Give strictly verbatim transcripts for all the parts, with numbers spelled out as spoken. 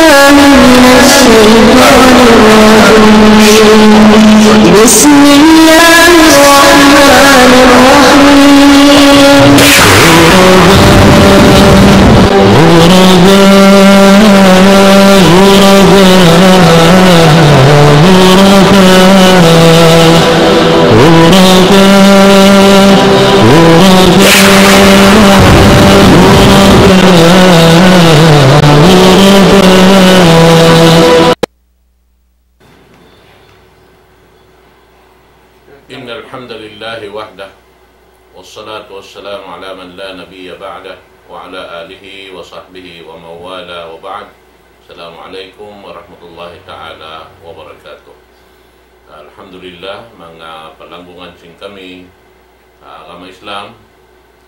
من الشيطان الرجيم. بسم الله الرحمن الرحيم. إن الحمد لله وحده، والصلاة والسلام على من لا نبي بعده، وعلى آله وصحبه ومن والاه، وبعد. السلام عليكم ورحمة الله تعالى وبركاته. Alhamdulillah, manga palanggungan sin kami, ah, agama Islam,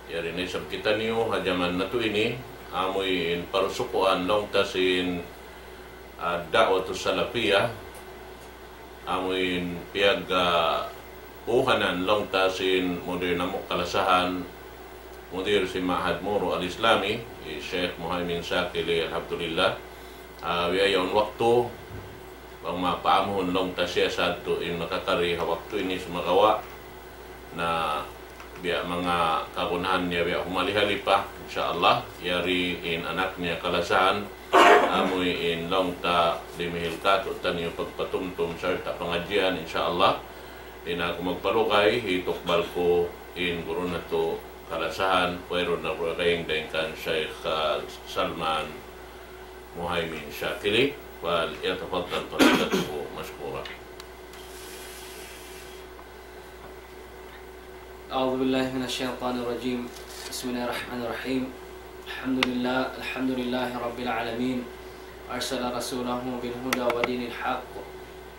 yari na isab kitaniyu ha jaman natu' ini, amuin parusukuan laung ta sin, ah, Da'watu Salafiyah, amuin piyag, ah, buhanan laung ta sin mudir namu' kalasahan, mudir sin Ma'had Muru Al-Islami, hi Sheikh Muhaymin Shakili, alhamdulillah. Ah, biya' yaun waktu, bang mapaamuhun laung ta siya sadtu in makakari ha waktu ini sumagawa' na biya' manga kagunahan niya biya' humali-hali pa, insya Allah, yari in anak niya kalasahan, amuin laung ta dimihil katu'taniyu pagpatumtum sarta' pangadjian, insya Allah. Di' na aku magpalugay, hitukbal ku in guru natu' kalasahan, wayruun na pagkaing dayn kan Sheikh, ah, Salman Muhaymin Shakili, فليتفضل فضيلته مشكورا. أعوذ بالله من الشيطان الرجيم. بسم الله الرحمن الرحيم. الحمد لله، الحمد لله رب العالمين. أرسل رسوله بالهدى ودين الحق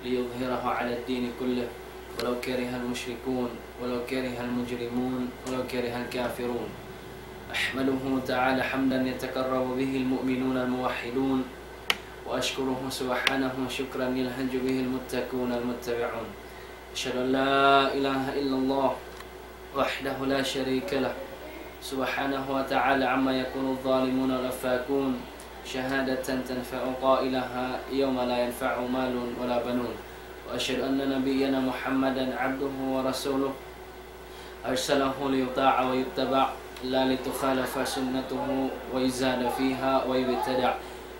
ليظهره على الدين كله ولو كره المشركون ولو كره المجرمون ولو كره الكافرون. أحمده تعالى حمدا يتقرب به المؤمنون الموحدون، وأشكره سبحانه شكرا يلهج به المتقون المتبعون. أشهد أن لا إله إلا الله وحده لا شريك له سبحانه وتعالى عما يقول الظالمون والأفاكون، شهادة تنفع قائلها يوم لا ينفع مال ولا بنون. وأشهد أن نبينا محمدا عبده ورسوله، أرسله ليطاع ويتبع، لا لتخالف سنته ويزاد فيها ويبتدع.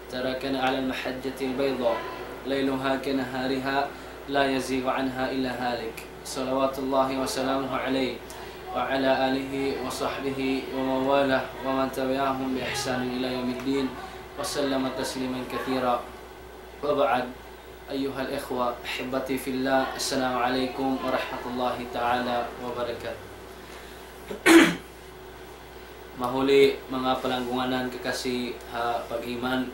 تركنا على المحجة البيضاء ليلها كنهارها لا يزيغ عنها إلا هالك، صلوات الله وسلامه عليه وعلى آله وصحبه ومن والاه ومن تبعهم بإحسان إلى يوم الدين، وسلم تسليما كثيرا. وبعد، أيها الإخوة أحبتي في الله، السلام عليكم ورحمة الله تعالى وبركاته. Mahuli manga palanggungan kakasi ha pag-iman,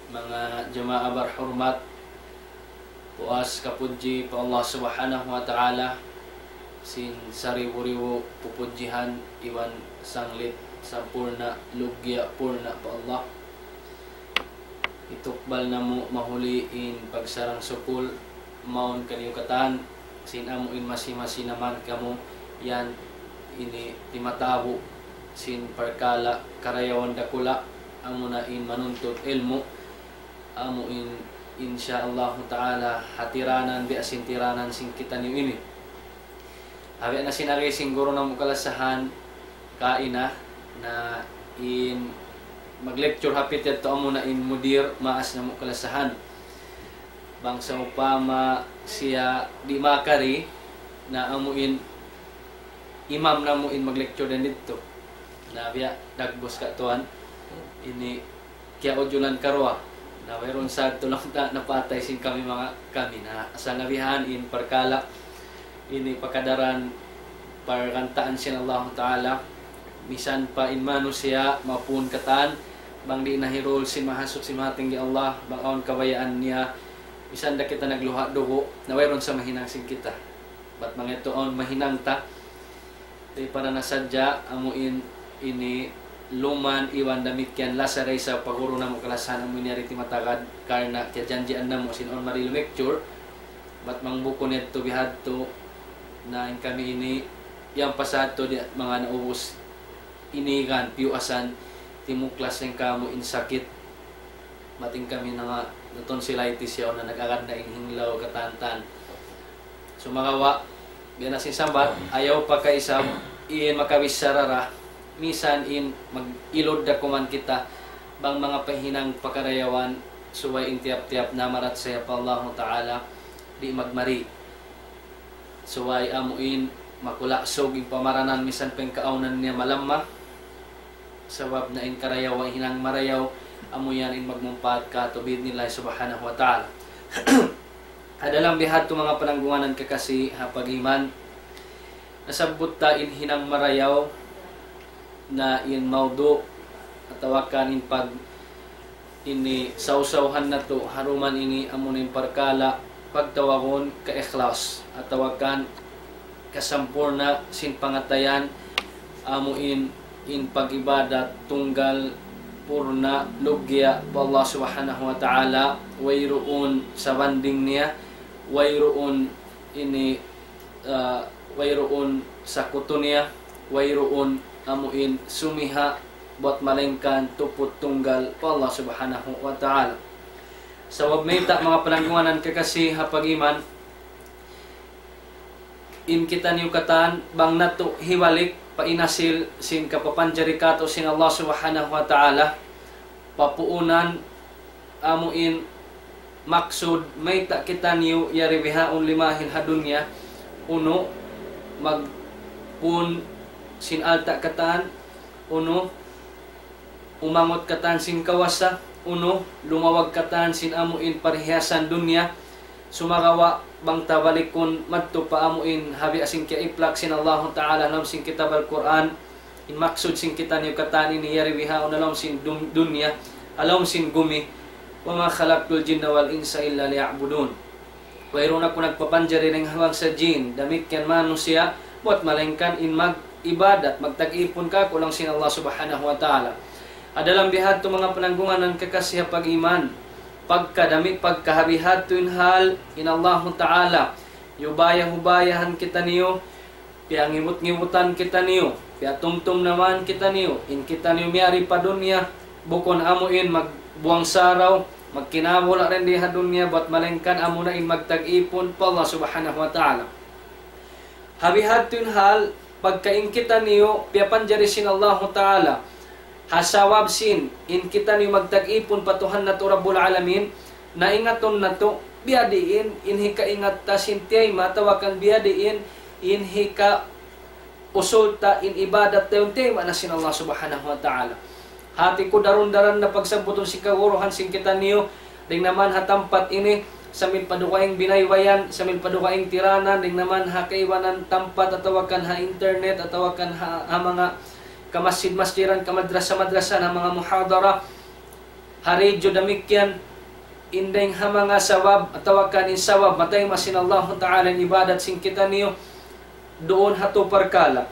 manga jamaa barhurmat, puas kapudji pa Allah Subhanahu wa Ta'ala, sin saribu-ribu pupudjihan iban sanglit sampurna' lugya purna' pa Allah. Hitukbal namu' mahuli in pagsarang-sukul mawn kaniyu katan, sin amu in masi-masi na man kamu yan ini timatabu' sin parkala' karayawan dakula', amuna in manuntut ilmu', amu in, insya Allahu Ta'ala, hatiranan biya' sin tiranan sin kitaniyu ini. Habi na sin agi sin guru namu' kalasahan, kaina, na in mag-lecture hapit yadtu amuna in mudir maas namu' kalasahan. Bang sawpama siya di' makari, na amu in imam namu' in mag-lecture dayn didtu. Na biya' dagbus ka tuwan, ini kiyaujulan karuwa. Na wayruun sa tulang ta napatay sin kami manga kami na asal nabihan in parkala' ini pakadaran pargantaan sin Allahu Ta'ala. Misan pa in manusiya' mapun katan, bang di' nahirul sin Mahasuchi Mahatinggi Allah, bang awn kabayaan niya, misan da kita nagluha' dugu', na wayruun sa mahinang sin kita. Bat manga yadtu awn mahinang ta, di' para na sadja amu in ini luman iban damikkiyan lasa da isab pa guru namu' kalasahan amu in yari timatagad karna' kiyajanjian namu' sin awn mari lecture. Bat bang bukun yadtu bihadtu na in kami ini yan pa sadtu di' manga naubus ini kan piyuasan timuklas yan kamu in sakit Mating kami na nga, na tonsillitis yaun na nag-agad na in hinglaw katantan. Sumagawa', biya' na sin sambat, ayaw pa kaisab, in makabichara ra, misan in mag-ilud da kuman kita, bang manga pahinang pakarayawan, subay in tiyap-tiyap namarachaya pa Allahu Ta'ala, di' magmari. Subay amu in makulagsug in pamaranan misan pa in kaawnan niya malamma. Sabab na in karayawan hinang marayaw, amu yan in magmumpaat katu' bi'idhnillahi subhanahu wa ta'ala. Adalang bihadtu manga pananggunganan kakasi ha pag-iman. Nasabbut ta in hinang marayaw na in mawdu' atawa kan in pag ini sawsawhan natu' ha duman ini amu na in parkala' pagtawagun ka-ikhlas atawa kan kasampurna' sin pangatayan amu in, in pag-ibadat tunggal purna' lugya pa Allah Subhanahu wa Ta'ala, wayruun sabanding niya, wayruun ini, ah, wayruun sakutu niya, wayruun amu in sumiha buat malaingkan tuput tunggal pa Allah Subhanahu wa Ta'ala. Sabab mayta' manga pananggunganan kakasi ha pag-iman, in kitaniyu katan bang natu' hibalik pa in asil sin kapapanjari katu' sin Allah Subhanahu wa Ta'ala, papuunan amu in maksud mayta' kitaniyu yari bihaun limahil ha dunya, unu, magpun sin alta' katan, unu, umangut katan sin kawasa, unu, lumawag katan sin amu in parhiyasan dunya, sumagawa' bang ta balikun madtu pa amu in ha biya' sin kiyaiplak sin Allahu Ta'ala ha lawm sin kitab Al-Qur'an, in maksud sin kitaniyu katan ini yari bihaun ha lawm sin dun-, dunya, ha lawm sin gumi, وما خلقت الجن والإنس إلا ليعبدون. Wayruun aku nagpapanjari dayn ha bangsa jin, damikkiyan manusiya', buat malaingkan in mag-ibadat, magtag-ipun kaku' laung sin Allah Subhanahu wa Ta'ala. Adalang bihadtu manga pananggunganan kakasi ha pag-iman, pagka dami, pagka ha bihadtu in hal, in Allahu Ta'ala, hiyubaya-hubayahan kitaniyu, piyangibut-ngibutan kitaniyu, piyatumtum-naman kitaniyu, in kitaniyu miyari pa dunya, bukun amu in magbuwang saraw, magkinabula' dayn di ha dunya, buat malaingkan amu na in magtag-ipun pa Allah Subhanahu wa Ta'ala. Ha bihadtu in hal, pagka in kitaniyu, piyapanjari sin Allahu Ta'ala, ha sabab sin, in kitaniyu magtag-ipun pa Tuhan natu' Rabbul Alamin, na ingatun natu', biyadiin, in hikaingat ta sin tiyayma', atawa kan biyadiin, in hikausul ta, in ibadat ta yaun tiyayma' na sin Allah Subhanahu wa Ta'ala. Hati ku darun-daran na pagsabbutun sin kaguruhan sin kitaniyu, dayn naman ha tampat ini, sambil pa dugaing binaybayan, sambil pa dugaing tiranan, dayn naman ha kaibanan tampat atawa kan ha internet, atawa kan ha, ha manga kamasjid-masjidan, kamadrasa-madrasa, ha manga muhadara, ha radyo damikkiyan, in dayng ha manga sabab, atawa kan in sabab, matayma' sin Allahu Ta'ala in ibadat sin kitaniyu, duun ha tū parkala'.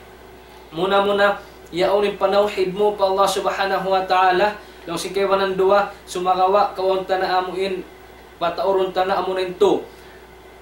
Muna-muna, yaun in panawhid mu pa Allah Subhanahu wa Ta'ala, laung sin kaibanan duwa, sumagawa', kawaun ta na amu in, pataurun ta na amu na in tū.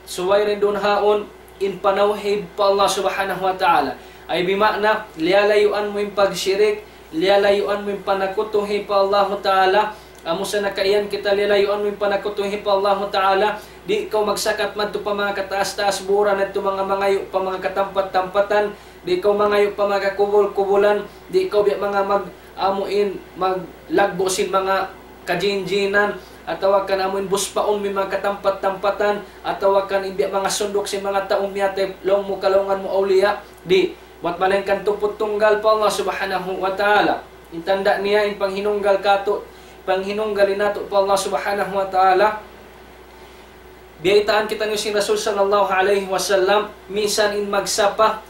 Subay dayn duun haun, in panawhid pa Allah Subhanahu wa Ta'ala. Ay bima'na, liyalayuan mu in pagshirik, liyalayuan mu in panakutuhi pa Allahu Ta'ala. Amu sa na kaiyan kita liyalayuan mu in panakutuhi pa Allahu Ta'ala. Di' kaw magsakat madtu pa manga kataas-taas buran, madtu manga mangayu' pa manga katampat-tampatan. Di' kaw mangayu' pa manga kubul-kubulan. Di' kaw biya' manga mag-, amu in, maglaggu' sin manga kajinjinan, atawa kan amu in buspaun mu in manga katampat-tampatan, atawa kan in biya' manga sunduk sin manga tau miyatay, laung mu kalaungan mu awliya, di', buat malaingkan tuput tunggal pa Allah Subhanahu wa Ta'ala. In tanda' niya, in panghinunggal katu', panghinunggal natu' pa Allah Subhanahu wa Ta'ala. Biyaytaan kitaniyu sin Rasul sallallahu alayhi wasallam, misan in magsapa,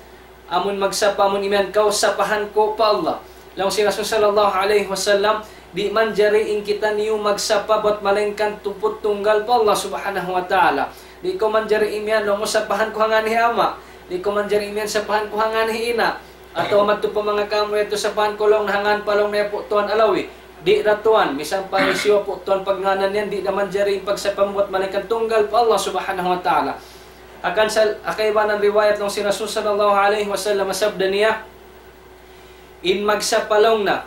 amun magsapa, amun imiyan kaw, sapahan ku pa Allah. Laung sin Rasul sallallahu alayhi wasallam, di' manjari in kitaniyu magsapa bat malaingkan tuput tunggal pa Allah Subhanahu wa Ta'ala. Di' kaw manjari imiyan, laung mu, sapahan ku ha ngan hi ama'. Di' kaw manjari imiyan, sapahan ku ha ngan hi ina'. Atawa madtu pa manga kamu yadtu, sapahan ku laung ha ngan pa laung niya Pu' Tuan Alawi. Di' da tuwan, misan pa hisiyu Pu' Tuan pagngānan yan, di' da manjari in pagsapa mu bat malaingkan tunggal pa Allah Subhanahu wa Ta'ala. Hangkan sa, ha kaibanan riwayat laung sin Rasul sallallahu alayhi wasallam, sabda niya, in magsapa laung niya,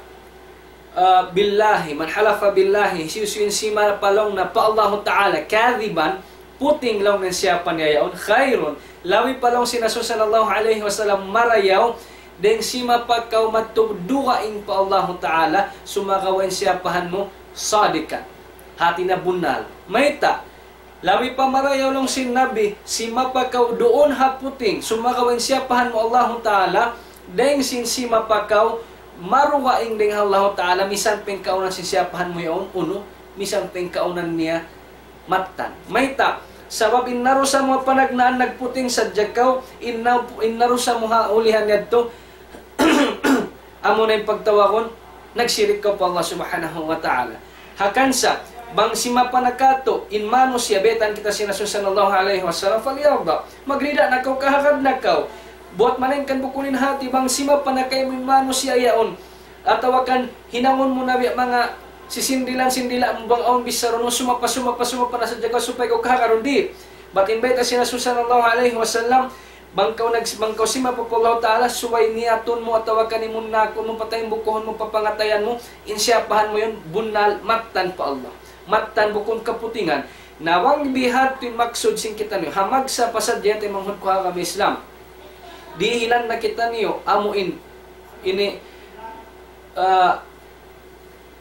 ah, billahi, man halafa billahi, hisiyu-siyu in simapa laung niya pa Allahu Ta'ala, kadhiban, puting laung niya in siyapa niya yaun, khairun, labi pa laung sin Rasul sallallahu alayhi wasallam marayaw, dayn simapa kaw madtu dugaing pa Allahu Ta'ala, sumagawa' in siyapahan mu, sadikan. Hati niya bunnal. Mayta', labi pa marayaw laung sin Nabi, simapa kaw duun ha puting, sumagawa' in siyapahan mu Allahu Ta'ala, dayn sin simapa kaw, marugaing dayn ha Allahu Ta'ala, misan pa in kaunan sin siyapahan mu yaun, unu, misan pa in kaunan niya mattan. Mayta', sabab in narusa mu panagnaan nagputing sadja kaw, in na-, in narusa mu ha ulihan yadtu, amuna in pagtawagun, nagsirik kaw pa Allah Subhanahu wa Ta'ala. Hangkan sa, bang simapa na katu', in manusiya', baytaan kita sin Rasul sallallahu alayhi wasallam, فليرضى. Magrida na kaw, kahagad na kaw. Buwat malayngkan bukun in hati, bang simapa na kaymu in manusiya' yaun. Atawa kan hinangun mu na biya' manga sisindilan-sindila mu bang awn bichara, sumapa, sumapa, sumapa na sadja kaw supaya kaw kahagad, di'. Bat in bayta' sin Rasul sallallahu alayhi wasallam, bang kaw nag-, bang kaw simapa pa Allah Ta'ala, subay niyatun mu atawa kan imunnakun mu, pataybukuhun mu, papangatayan mu, in siyapahan mu yaun, bunnal, mattan pa Allah. Mattan bukun kaputingan. Na bang bihadtu in maksud sin kitaniyu, ha magsa pa sadja, taymanghud ku ha agama Islam. Dihilan na kitaniyu, amu in, ini, ah,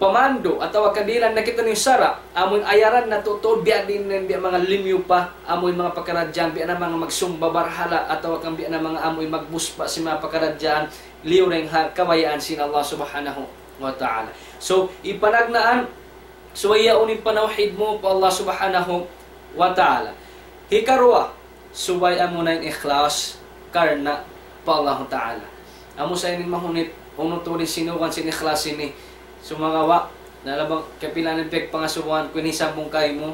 pamandu' atawa kan dihilan na kitaniyu sara', amu in ayaran natu' tuud, biya' diin na in biya' manga limyupa, amu in manga pakaradjaan, biya' na manga magsumba barhala', atawa kan biya' na manga amu in magbuspa sin manga pakaradjaan, liyu dayn ha kabayaan sin Allah Subhanahu wa Ta'ala. So, in panagnaan, subay yaun in panawhid mu pa Allah Subhanahu wa Ta'ala. Hikaruwa, subay amuna in ikhlas karna' pa Allahu Ta'ala. Amu sa ini mahunit, unu tuud in sinugan sin ikhlas ini. Sumagawa', na labi kapilan in piyagpangasubuhan ku in sambung kaymu,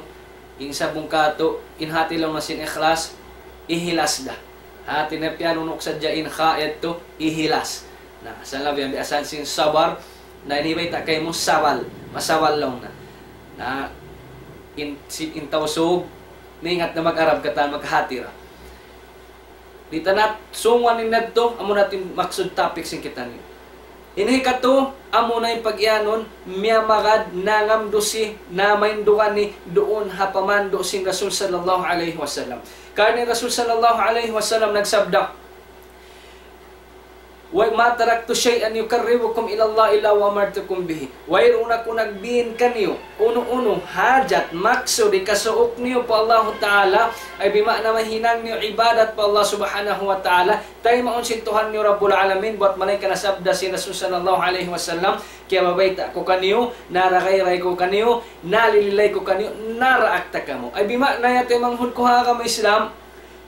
in sambung katu', in hati laung niya sin ikhlas, ihilas da. Hati niya piyanunuk sadja in kha yadtu, ihilas. Na, sa labi biya' sin sabar, na ini bayta' kaymu sabal, masabal laung niya. Na, in, si, in Tausug, maingat na mag-Arab katan, maghati ra. Di' ta na sunguan in yadtu, amuna in maksud topic sin kitaniyu. Ini katu', amuna in pag-iyanun, miyamagad, nangamdusi, namaindugan ini, duun ha pamandu' sin Rasul sallallahu alayhi wasallam. Karna' in Rasul sallallahu alayhi wasallam nagsabda, وما تركت شيئا يقربكم إلى الله إلا وأمرتكم به. Wayruun aku nagbin kaniyu, unu-unu, hajat, maksud, hikasuuk niyu pa Allahu Ta'ala, ay bima'na mahinang niyu ibadat pa Allah Subhanahu wa Ta'ala, taymaun sin Tuhan niyu Rabbul Alamin, buwat malayngkan nasabda sin Rasul sallallahu alayhi wasallam, kiyabayta' ku kaniyu, naragayray ku kaniyu, nalililay ku kaniyu, naraak ta kamu. Ay bima'na ya taymanghud ku ha agama Islam,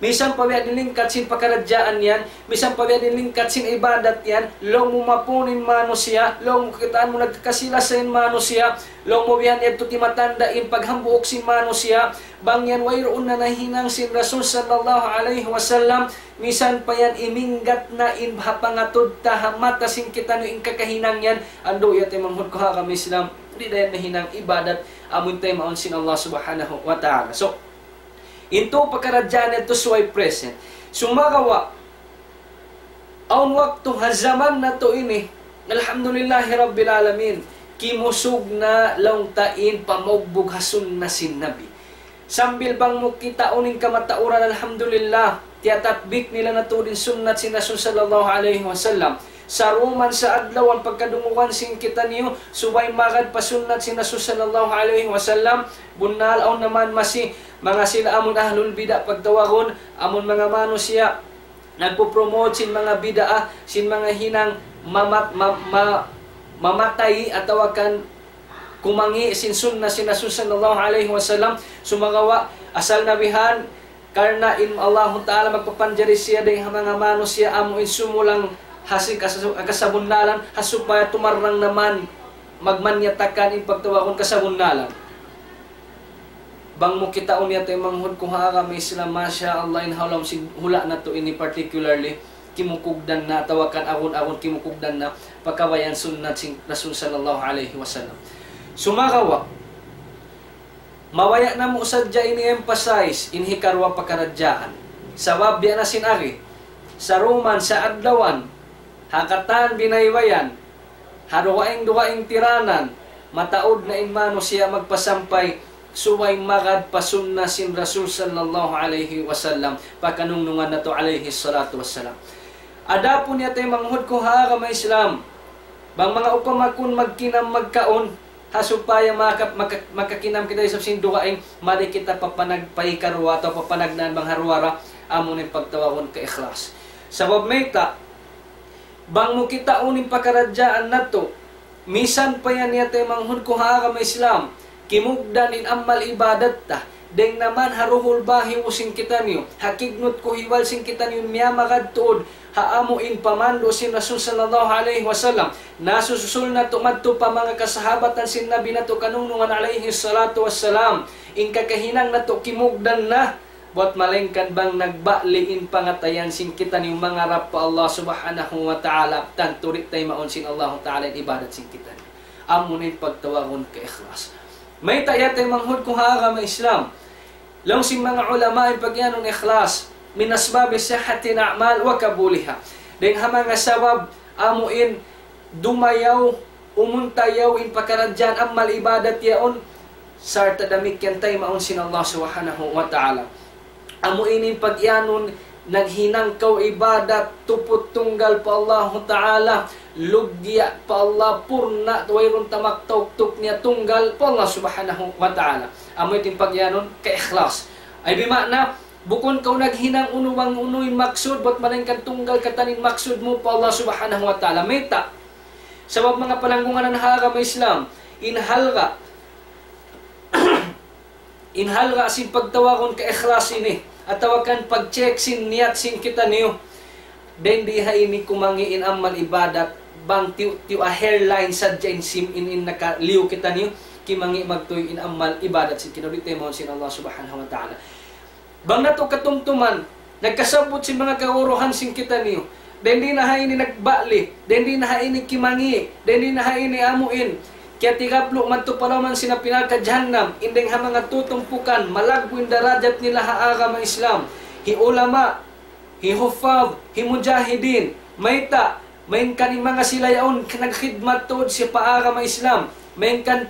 misan pa biya' diin lingkat sin pakaradjaan yan, misan pa biya' diin lingkat sin ibadat yan, laung mu mapun in manusiya', laung mu kakitaan mu nagkakasi-lasa in manusiya', laung mu biya' yan yadtu timatanda' in paghambuuk sin manusiya', bang yan wayruun na nahinang sin Rasul sallallahu alayhi wasallam, misan pa yan iminggat na in ha pangatud ta ha mata sin kitaniyu in kakahinang yan, andu' ya taymanghud ku ha agama Islam, di' da yan nahinang ibadat, amun taymaun sin Allah Subhanahu wa Ta'ala. So, in tū pakaradjaan yadtu subay present. Sumagawa', awn waktu ha jaman natu' ini, alhamdulillahi rabbil alamin, kimusug na laung ta in pamugbug ha sunna sin Nabi. Sambil bang mu kitaun in kamatauran, alhamdulillah, tiyatatbik nila na tuud in sunnat sin Rasul sallallahu alayhi wasallam. Saruman sa adlawan pagkadungugan sin kitaniyu, subay magad pa sunnat sin Rasul sallallahu alayhi wasallam, bunnal awn na man masi, manga sila amun ahlul bid'a pagtawagun, amun manga manusiya', nagpo-promote sin manga bid'a, sin manga hinang mamat-, ma-, ma-, mamatay atawa kan kumangi' sin sunna sin Rasul sallallahu alayhi wasallam, sumagawa' asal na bihan, karna' in Allahu Ta'ala magpapanjari siya dayn ha manga manusiya' amu in sumulang ha sin kas-, kasabunnalan, ha supaya tumarrang na man, magmanyatakan in pagtawagun kasabunnalan. Bang mu kitaun ya taymanghud ku ha agama Islam, masha Allah, in ha lawm sin hula' natu' ini particularly, kimukugdan na, atawa kan agun-agun kimukugdan na, pa kabayaan sunnat sin Rasul sallallahu alayhi wasallam. Sumagawa', mabaya' namu' sadja ini emphasize, in hikaruwa pakaradjaan. Sabab biya' na sin agi, saruman sa adlawan, ha katan binaybayan, ha dugaing-dugaing tiranan, mataud na in manusiya' magpasampay, subay magad pa sunna sin Rasul sallallahu alayhi wasallam, pa kanungnungan natu' alayhi salatu wassalam. Adapun ya taymanghud ku ha agama Islam, bang manga upama kun magkinam magkaun, ha supaya maka-, maka-, makakinam kita isab sin dugaing, mari kita papanagpay karuwa atawa papanagnaan bang ha ruwa ra, amu in pagtawagun kaikhlas. Sabab mayta', bang mu kitaun in pakaradjaan natu', misan pa yan ya taymanghud ku ha agama Islam, kimugdan in amal ibadat ta, dayng naman ha duhul bahiu sin kitaniyu, ha kignut kuhiwal sin kitaniyu, miyamagad tuud ha amu in pamandu' sin Rasul sallallahu alayhi wasallam, nasususul natu' madtu pa manga kasahabatan sin Nabi natu' kanungnungan alayhi salatu wassalam, in kakahinang natu' kimugdan na, buat malaingkan bang nagbali' in pangatayan sin kitaniyu mangarap pa Allah subhanahu wa ta'ala, tantu di' taymaun sin Allahu ta'ala in ibadat sin kitaniyu. Amu na in pagtawagun kaikhlas. Mayta' ya taymanghud ku ha agama Islam, laung sin manga ulama in pagiyanun ikhlas, من أسباب صحة الأعمال وقبولها. Dayng ha manga sabab amu in dumayaw, umuntayaw in pakaradjaan amal ibadat yaun, sarta' damikkiyan taymaun sin Allah subhanahu wa ta'ala. Amu ini in pagiyanun, naghinang kaw ibadat tuput tunggal pa Allahu ta'ala, lugya' pa Allah, purna', wayruun tamak tauktuk niya, tunggal pa Allah subhanahu wa ta'ala. Amu ini in pagiyanun kaikhlas. Ay bima'na, bukun kaw naghinang unu bang unu in maksud, buat malaingkan tunggal katan in maksud mu pa Allah subhanahu wa ta'ala. Mayta'? Sabab manga palanggungan ha agama Islam, in halga', in halga' sin pagtawagun kaikhlas ini, atawa kan pag-check sin niyat sin kitaniyu, dayng di ha ini kumangi' in amal ibadat, bang tiyu'-tiyu' ha hairline sadja in sim in, in nakaliyu kitaniyu, kimangi' magtuy in amal ibadat sin kitaniyu, di' taymaun sin Allah subhanahu wa ta'ala. Bang natu' katumtuman, nagkasabbut sin manga kaguruhan sin kitaniyu, dayng di na ha ini nagbali', dayng di na ha ini kimangi', dayng di na ha ini amu in kiyatigablu' madtu pa lawm sin api narka' jahannam, in dayng ha manga tutumpukan, malaggu' in darajat nila ha agama Islam, hi ulama, hi huffaz, hi mujahidin, mayta', malayngkan in manga sila yaun nagkhidmat tuud sin pa agama Islam, malayngkan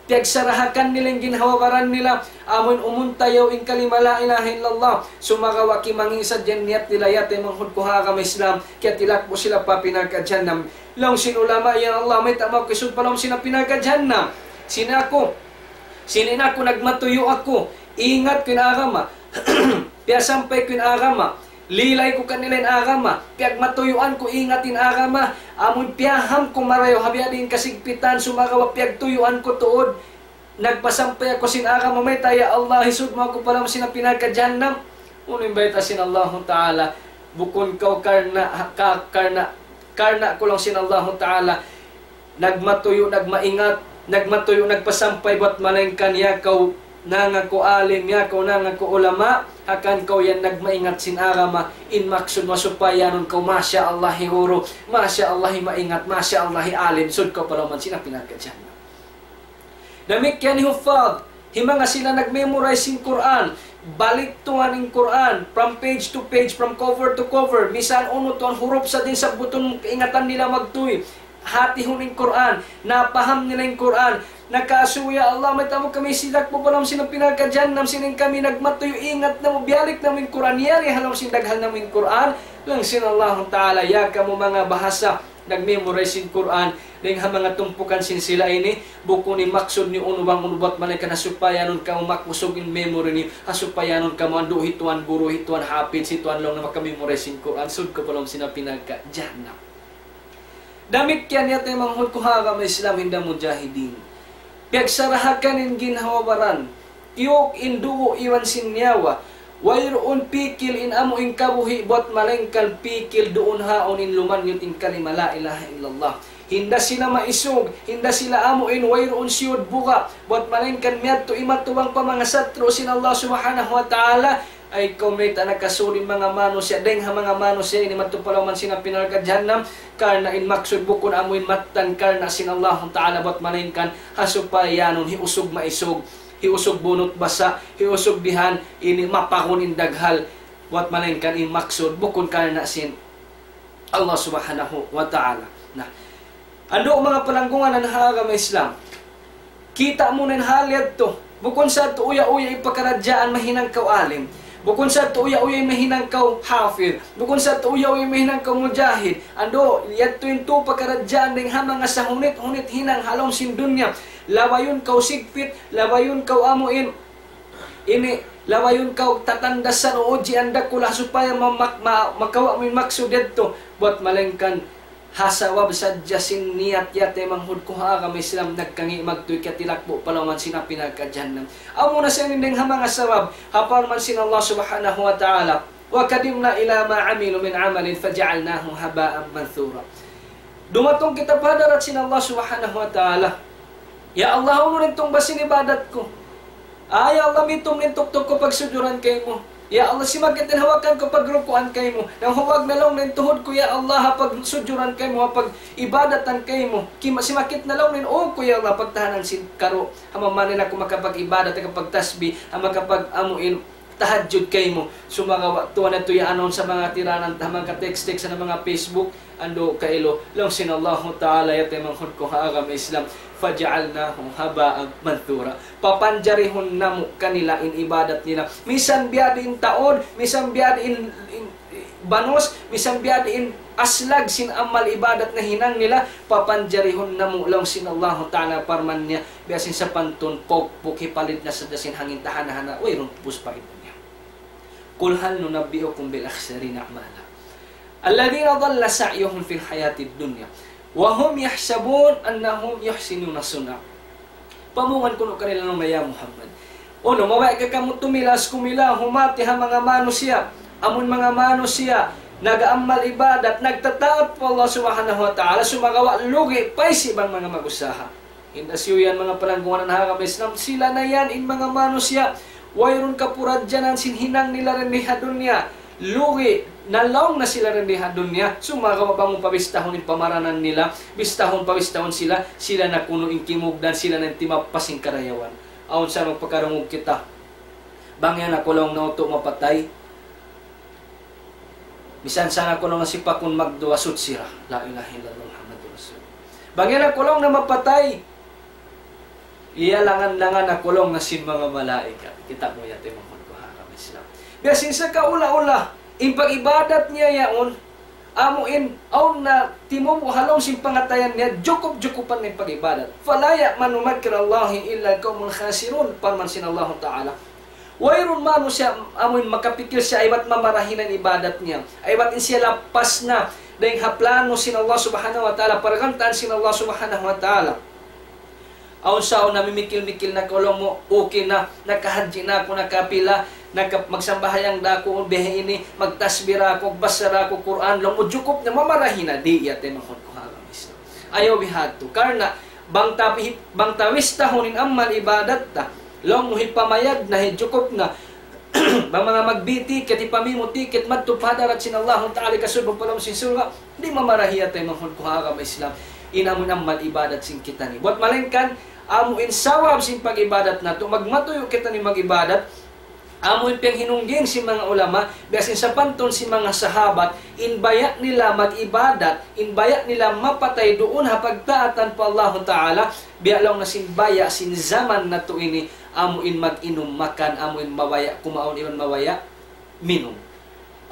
piyagsarahakan nila in ginhawa-baran nila, amun umuntayaw in kalima la ilaha illallah, sumagawa' kimangi' sadja in niyat nila, ya taymanghud ku ha agama Islam, kiyatilakbu' sila pa api narka' jahannam. Laung sin ulama, ya Allah, mayta' makusug pa lawm sin api narka' jahannam? Sin aku, sin in aku nagmatuyu' aku, ingat ku in agama, piyasampay ku in agama, lilay ku kanila in agama, piyagmatuyuan ku ingat in agama, amun piyaham ku marayaw ha biya' diin kasigpitan, sumagawa' piyagtuyuan ku tuud, nagpasampay aku sin agama, mayta', ya Allah, hisud mu aku pa lawm sin api narka' jahannam? Unu in bayta' sin Allahu ta'ala? Bukun kaw karna', ka-, karna', karna' ku laung sin Allahu ta'ala, nagmatuyu', nagmaingat, nagmatuyu', nagpasampay, buat malaingkan ya kaw nangaku alim, ya kaw nangaku ulama, hangkan kaw yan nagmaingat sin agama, in maksud mu supaya nun kaw, masha Allah, hi guru, masha Allah, hi maingat, masha Allah, hi alim, sud kaw pa lawm sin api narka' jahannam. Damikkiyan hi huffaz, hi manga sila nag-memorize sin Qur'an, baliktuan in Qur'an, from page to page, from cover to cover, misan unu tuwan hurup sa' diin sabbutun, kaingatan nila magtuy, hatihun in Qur'an, napaham nila in Qur'an, nakasu, ya Allah, mayta' mu kami sidak pa lawm sin api narka' jahannam, sin in kami nagmatuyu', ingat namu', biyalik namu' in Qur'an, yari ha lawm sin daghal namu' in Qur'an, laung sin Allahu ta'ala, ya kamu manga bahasa, nag-memorize sin Qur'an, dayng ha manga tumpukan sin sila ini, bukun in maksud niyu unu bang unu, buat malaingkan ha supaya nun kamu makusug in memory niyu, ha supaya nun kamu andu' hi tuwan guru, hi tuwan hafiz, hi tuwan laung na maka-memorize sin Qur'an, sud kaw pa lawm sin api narka' jahannam. Damikkiyan ya taymanghud ku ha agama Islam, hinda mujahidin. Piyagsarahakan in ginhawa-baran, tiyuk in dugu' iban sin nyawa. Wayruun pikil in amu in kabuhi' buat malaingkan pikil duun ha awn in lumanyut in kalima la ilaha illallah. Hinda sila maisug, hinda sila amu in wayruun siyud buga', buat malaingkan miyadtu imatubang pa manga satru' sin Allah subhanahu wa ta'ala. Ay kaw mayta' nakasud in manga manusiya', dayng ha manga manusiya' ini madtu pa lawm sin api narka' jahannam, karna' in maksud bukun amu in mattan karna' sin Allahu ta'ala, buat malaingkan ha supaya nun hiusug maisug, hiusug bunut basa', hiusug bihan ini mapagun in daghal, buat malaingkan in maksud bukun karna' sin Allah subhanahu wa ta'ala. Na, Andu' manga palanggungan ha agama Islam. Kita' mu na in hal yadtu. Bukun sa tuud uya-uya in pakaradjaan mahinang kaw alim. Bukun sa tuud uya-uya in mahinang kaw hafid. Bukun sa tuud uya-uya in mahinang kaw mujahid. Andu', yadtu in tu pakaradjaan dayn ha manga sahunit-hunit hinang ha lawm sin dunya. Labayun kaw sigpit, labayun kaw amu in ini, labayun kaw tatandasan, ujian dakula' supaya ma-, ma-, ma-, makawa' mu in maksud yadtu. Buwat malaingkan ha sabab sadja sin niyat yadtu, manghud ku ha agama Islam, nagkangi' magtuy katilakbu' pa lawm sin api narka' jahannam. Amu na siya in dayn ha manga sabab, ha parman sin Allah Subhanahu wa Ta'ala, وقدمنا إلى ما عملوا من عمل فجعلناه هباء منثورا. Dumatung kita pa hadarat sin Allah Subhanahu wa Ta'ala. Ya Allah, unu in tungba sin ibadat ku? Ah, ya Allah, mitum in tuktuk ku pagsujuran kaymu. Ya Allah, simakit in hawakan ku pagrukuan kaymu. Nanghuwag na laung in tuhud ku, ya Allah, ha pagsujuran kaymu, ha pag-ibadatan kaymu. Kima-, simakit na laung in ū ku, ya Allah, pagtahanan sin karu'. Ha mamanin aku makapag-ibadat, makapagtasbih, ha makapag-amuin tahajjud kaymu. Sumagawa' tuwan na tuya' awn sa manga tiranan ta, manga text-text ha manga Facebook, andu' kailu, laung sin Allahu Ta'ala, ya taymanghud ku ha agama Islam, فجعلناه هباء منثورا. Papanjarihun namu' kanila in ibadat nila. Misan biya' diin taud, misan biya' diin, in, banus, misan biya' diin aslag sin amal ibadat nahinang nila, papanjarihun namu' laung sin Allahu Ta'ala parman niya, biya' sin sapantun pukpuk hipalit na sadja sin hangin tahana-hana, wayruun pus pa iban niya. قل هل ننبئكم بالأخسرين أعمالا الذين ضل سعيهم في الحياة الدنيا وهم يحسبون أنهم يحسنون صنعا. Pamungan kunu' kanila laung niya, ya Muhammad. Unu, mabaya' ka kamu tumilas kumila, humati ha manga manusiya', amun manga manusiya', nag-amal ibadat, nagtataat pa Allah Subhanahu wa Ta'ala, sumagawa' lugi' pa isab in manga mag-usaha. Inda siyu yan manga palanggungan ha agama Islam, sila na yan in manga manusiya', wayruun kapuradjanan sin hinang nila dayn di ha dunya. Lugi', nalaung na sila dayn di ha dunya, sumagawa' bang mu pabistahun in pamaranan nila, bistahun, pabistahun sila, sila na kunu' in kimugdan, sila na in timappas sin karayawan. Awn sa magpakarungug kita. Bang yan aku laung na utu' mapatay. Misan sa aku laung na sipakun magduwa suchi ra. La ilaha illallah Muhammadur Rasulullah. Bang yan aku laung na mapatay. Iyalangan-langan aku laung na sin manga malaikat. Kita' mu yadtu, manghud ku ha agama Islam. Biya' sin sakaula-ula, in pag-ibadat niya yaun, amu in, awn na timubu' ha lawm sin pangatayan niya, jukup-jukupan na in pag-ibadat. فلا يأمن مكر الله إلا القوم الخاسرون, parman sin Allahu Ta'ala. Wayruun manusiya' amu in makapikil siya aybat mamarahi na in ibadat niya. Aybat in siya lappas na dayn ha plano sin Allah Subhanahu wa Ta'ala, pargantaan sin Allah Subhanahu wa Ta'ala. Awn sa awn namimikil-mikil na kaw laung mu, okay na, nakahadji na aku, nakapila, naka-, magsambahayang da aku, biya' ini, magtasbih da aku, magbasa da aku Qur'an, laung mu jukup na, mamarahi na, di', ya taymanghud ku ha agama Islam. Ayaw bihadtu. Karna', bang ta pi-, bang ta bistahun in amal ibadat ta, laung mu hipamayad na, hijukup na, bang manga mag-B ticket, hipamimu ticket, madtu pa hadarat sin Allahu Ta'ala, hikasud mu pa lawm sin surga', di' mamarahi, ya taymanghud ku ha agama Islam. In amu in amal ibadat sin kitaniyu. Buwat malaingkan, amu in sawab sin pag-ibadat natu', magmatuyu' kitaniyu mag-ibadat, amu in piyanghinungging sin manga ulama, biya' sin sapantun sin manga sahabat, in baya' nila mag-ibadat, in baya' nila mapatay duun ha pagtaatan pa Allahu Ta'ala, biya' laung na sin baya' sin jaman natu' ini, amu in mag-inum makan, amu in mabaya' kumaun iban mabaya' minum.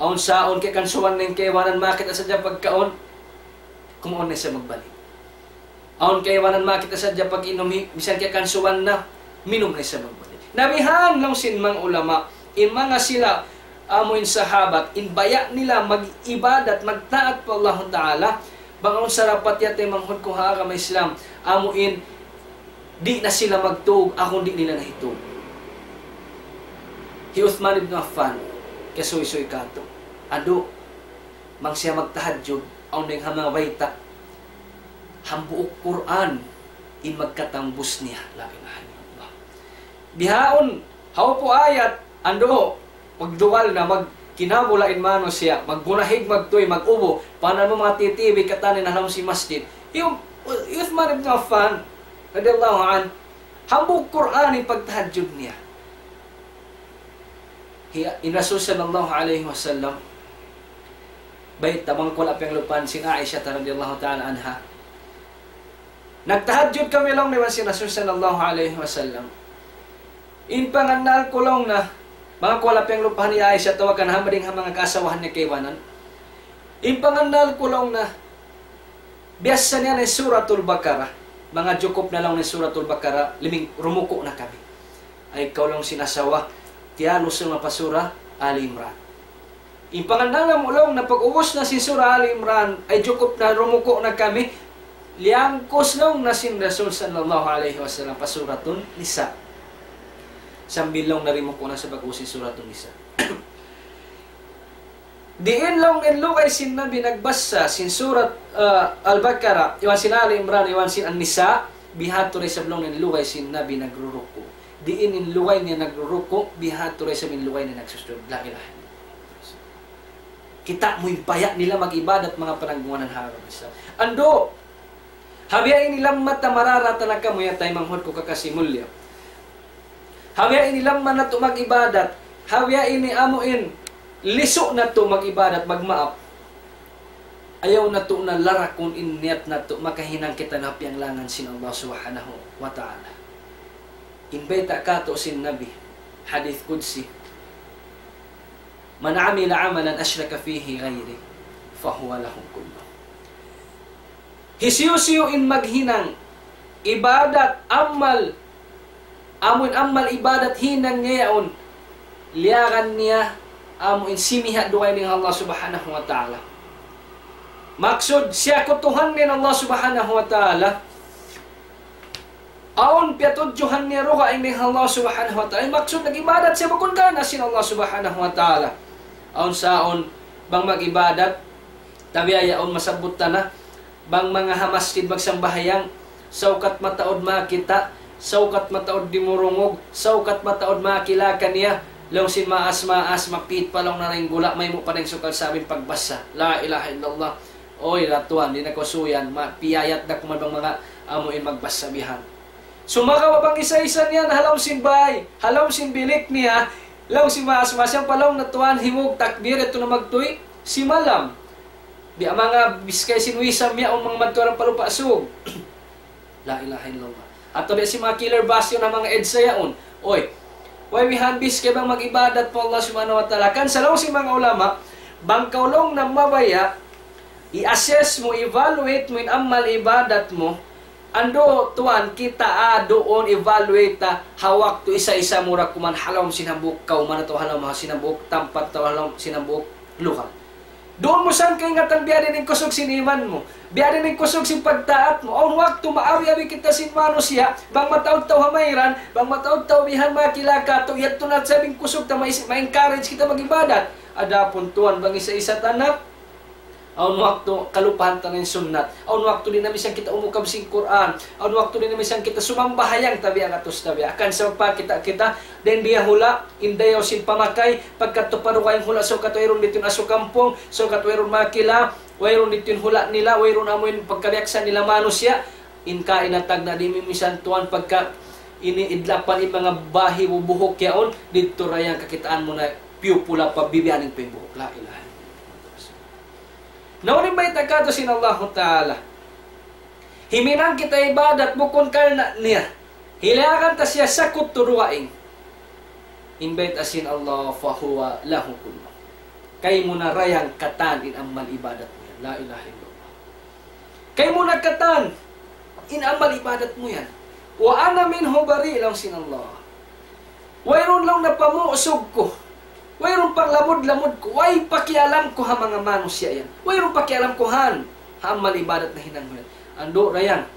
Awn sa awn kakansuwan na in kaibanan, makakita' sadja pagkaun, kumaun na siya magbalik. Awn kaibanan, makakita' sadja pag-inum, misan kakansuwan na, minum na siya magbalik. Na bihan laung sin manga ulama, in manga sila, amu in sahabat, in baya' nila mag-ibadat, magtaat pa Allahu Ta'ala, bang awn sarapat, ya taymanghud ku ha agama Islam, amu in di' na sila magtug, aku di' nila na hitug. Hi Uthman ibn Affan, kasuysuy katu'. Adu, bang siya magtahajjud, awn dayn ha manga bayta', hambuuk Qur'an in magkatangbus niya. La ilaha illallah. Bihaun, hawpu ayat, andu', magduwal na, magkinabula in manusiya', maggunahig, magtuy, mag-ubu, panan mu manga T T V katan in ha lawm sin masjid. Hi Uthman ibn Affan, radiyallahu anhu, hambuuk Qur'an in pagtahajjud niya. Hi-, in Rasul sallallahu alayhi wasallam, bayta' bang ku wala' piyanglupahan sin Aisha radiyallahu ta'ala anha. Nagtahajjud kami laung niya iban sin Rasul sallallahu alayhi wasallam. In pangannal ku laung niya, manga kuwala piyanglupahan hi Aisha atawa kan ha manga dayng ha manga kaasawahan niya kaibanan. In pangannal ku laung niya, biyassa niya na in Suratul Baqarah. Manga jukup na laung niya in Suratul Baqarah, liming rumuku' na kami. Ay kaw laung sin asawa, tiyalus na pa Surah Ali Imran. In pangannal namu' laung niya pag-ubus na sin Surah Ali Imran, ay jukup na rumuku' na kami, liyangkus laung niya sin Rasul sallallahu alayhi wasallam pa Suratun Nisa. Sambil laung niya rumuku' na sa' pag-ubus sin Suratun Nisa. Diin laung in lugay sin Nabi nagbassa sin Surat, ah, Al-Baqarah, iban sin Ali Imran, iban sin An-Nisa, bihadtu da isab laung in lugay sin Nabi nagruruku'. Diin in lugay niya nagruruku', bihadtu da isab in lugay niya nagsusujud. La ilaha illallah. Kita' mu in baya' nila mag-ibadat manga pananggungan ha agama Islam. Andu', ha biya' ini lamma ta mararata na kamu ya taymanghud ku kakasi mulliya. Ha biya' ini lamma natu' mag-ibadat. Ha biya' ini amu in lisu' natu' mag-ibadat, magmaap. Ayaw natu' na larakun in niyat natu' makahinang kita na piyanglangan sin Allah Subhanahu wa Ta'ala. In bayta' katu' sin Nabi, hadith qudsi, من عمل عملا أشرك فيه غيري فهو له كله. Hisiyu-siyu in maghinang ibadat, amal, amu in amal ibadat hinang niya yaun, liyagan niya amu in simiha' dugaing dayn ha Allah Subhanahu wa Ta'ala. Maksud, siyakutuhan niya in Allah Subhanahu wa Ta'ala, awn piyatudjuhan niya dugaing dayn ha Allah Subhanahu wa Ta'ala. Maksud, nag-ibadat siya bukun karna' sin Allah Subhanahu wa Ta'ala. Awn sa awn, bang mag-ibadat, tabiya' yaun masabbut ta na, bang manga ha masjid magsambahayang, saukat mataud makakita', saukat mataud dimurungug, saukat mataud makakila kaniya, laung sin maas-maas, mapit pa laung na ring gula', maymu' pa ring sukal sabin pagbasa. La ilaha illallah. Uy, ra tuwan, di' na kaw suyan, ma-, piyayat da kuman bang manga amu in magbasa bihan. Sumagawa' bang isa-isa niya na ha lawm sin bay, ha lawm sin bilik niya, laung sin maas-maas yan pa laung na tuwan, himug takbir, yadtu na magtuy, simalam. Biya' manga biskay sin wisam yaun manga madtu ha lawm pa Lupa' Sug. La ilaha illallah. Atawa biya' sin manga killer bus yaun ha manga EDSA yaun. Uy, way bihan biskay bang mag-ibadat pa Allah Subhanahu wa Ta'ala. Kan sa laung sin manga ulama, bang kaw laung na mabaya', i-assess mu, evaluate mu in amal ibadat mu, andu' tuwan kita, ah, duun evaluate ta, ha waktu isa-isa mu ra kuman ha lawm sin hambuuk kawman atawa ha lawm sin hambuuk tampat atawa ha lawm sin hambuuk lugal. Duun mu san kaingatan biya' diin in kusug sin iman mu, biya' diin in kusug sin pagtaat mu. Awn waktu maawi-abi kita sin manusiya', bang mataud tau ha mayran, bang mataud tau bihan makakila katu', yadtu na sabing kusug ta, ma-, ma-encourage kita mag-ibadat. Adapun tuwan bang isa-isa ta na, awn waktu kalupahan ta na in sunnat. Awn waktu di' na misan kita umukab sin Qur'an. Awn waktu di' na misan kita sumambahayang tabiya' katus tabiya'. Hangkan sa pagkita' kita, dayn di ha hula', in dayaw sin pamakay, pagkadtu pa dugaing hula', saukat wayruun didtu in asu kampung, saukat wayruun makakila, wayruun didtu in hula' nila, wayruun amu in pagkabiyaksahan nila manusiya', in kaina tagna' di' mimisan tuwan pagka ini idlapan in manga bahi bubuhuk yaun, didtu ra yan kakitaan mu na piyupula pa bibiyaning pa in buhuk. La ilaha illallah. Na unu in bayta' katu' sin Allahu Ta'ala? Himinang kita ibadat bukun karna' niya. Hiliyagan ta siya sakut tu dugaing. In bayta' sin Allah, فهو له كله. Kaymu na ra yan katan in amal ibadat mu yan. La ilaha illallah. Kaymu na katan in amal ibadat mu yan. وأنا منه بريء, laung sin Allah. Wayruun laung na pamusug ku. Wayruun panglamud-lamud ku. Way pakialam ku ha manga manusiya' yan. Wayruun pakialam ku han ha amal ibadat nahinang mu yan. Andu' ra yan.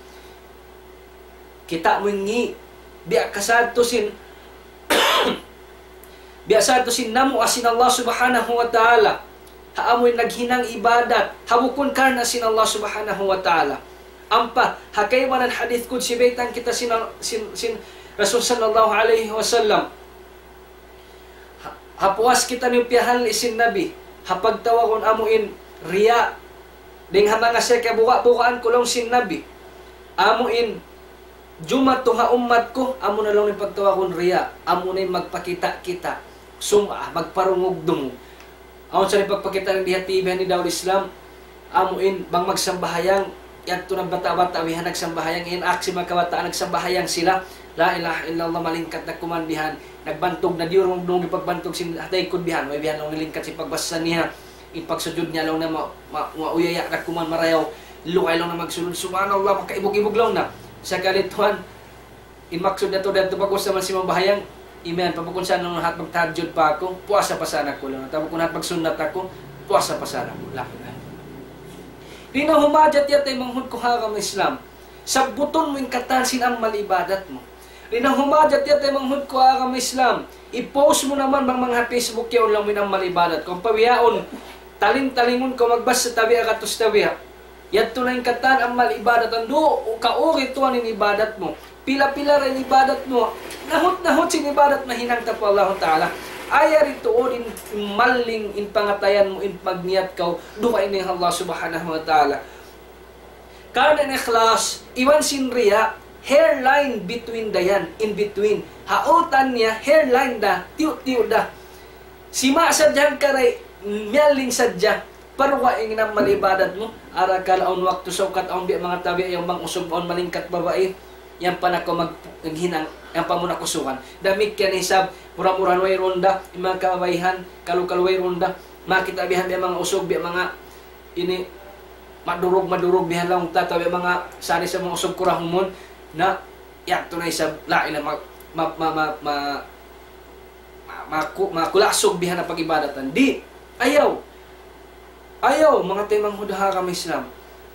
Kita' mu in ngi'. Biya' kasad tu sin, biya' sad tu sin namu' sin Allah Subhanahu wa Ta'ala. Ha amu in naghinang ibadat, ha bukun karna' sin Allah Subhanahu wa Ta'ala. Ampa, ha kaibanan hadith qudsi baytaan kita sin, sin, sin Rasul sallallahu alayhi wasallam. Ha, ha puas kitaniyu piyahalli' sin Nabi, ha pagtawagun amu in riya', dayn ha manga siya kabuga'-bugaan ku laung sin Nabi. Amu in jumatu ha ummat ku, amu na laung in pagtawagun riya', amu na in magpakita'-kita', sum'ah, magparungug-dungug. Awn sa in pagpakita' dayn di ha T V ini Dawul Islam, amu in bang magsambahayang, Yadtu na bata'-bata' bihan nagsambahayang, in aksi manga kabataan nagsambahayang sila. La ilaha illallah, malingkat na kuman bihan. Nagbantug na diyurung-dung in pagbantug sin ha taykud bihan. Way bihan laung nalingkat sin pagbasa niya. In pagsujud niya laung na ma-, ma-, mauyaya na kuman marayaw. Lukay laung na magsujud. Subhanallah, makaibug-ibug laung na. Sakali tuwan, in maksud natu' didtu pag-usap man sin mabahayang, imiyan, pa bukun sa laung hat magtahajjud pa aku, puasa pa sana aku laung. Atawa bukun hat magsunnat aku, puasa pa sana aku. La ilaha illallah. Di' na humajat yadtu taymanghud ku ha agama Islam. Sabbutun mu in katan sin amal ibadat mu. Di' na humajat yadtu taymanghud ku ha agama Islam. I-post mu naman bang manga Facebook yaun laung mu in amal ibadat. Kung pawiyaun, taling-talingun kaw magbasa tabiya' katus tabiya'. Yadtu na in katan amal ibadat. Andu', kauri tuwan in ibadat mu. Pila-pila ra in ibadat mu. Nahut-nahut sin ibadat nahinang ta pa Allah Ta'ala. Ayari tuud in maling in pangatayan mu, in magniyat kaw, dugaing in Allah Subhanahu wa Ta'ala. Karna' in ikhlas, iban sin riya, hairline between da yan, in between. Ha utan niya, hairline da, tiyu'-tiyu' da. Sima' sadja hangkaray, miyaling sadja. Paruwa in amal ibadat mu, arakala' awn waktu saukat awn biya' manga tabi' yan bang usug awn malingkat babai, yan pa na kaw mag-, maghinang, yan pa mu na kusugan. Damikkiyan isab, mura-murahan wayruun da, in manga kababaihan, kalu-kalu wayruun da, makakita' bihan biya' manga usug, biya' manga ini, madurug-madurug bihan laung ta, tabi' manga sari sa manga usug kurahumun, na, yadtu na isab, la ilaha, ma-, ma-, ma-, ma-, ma-, maku-, makulasug bihan ha pag-ibadatan. Di', ayaw. Ayaw, manga taymanghud ha agama Islam.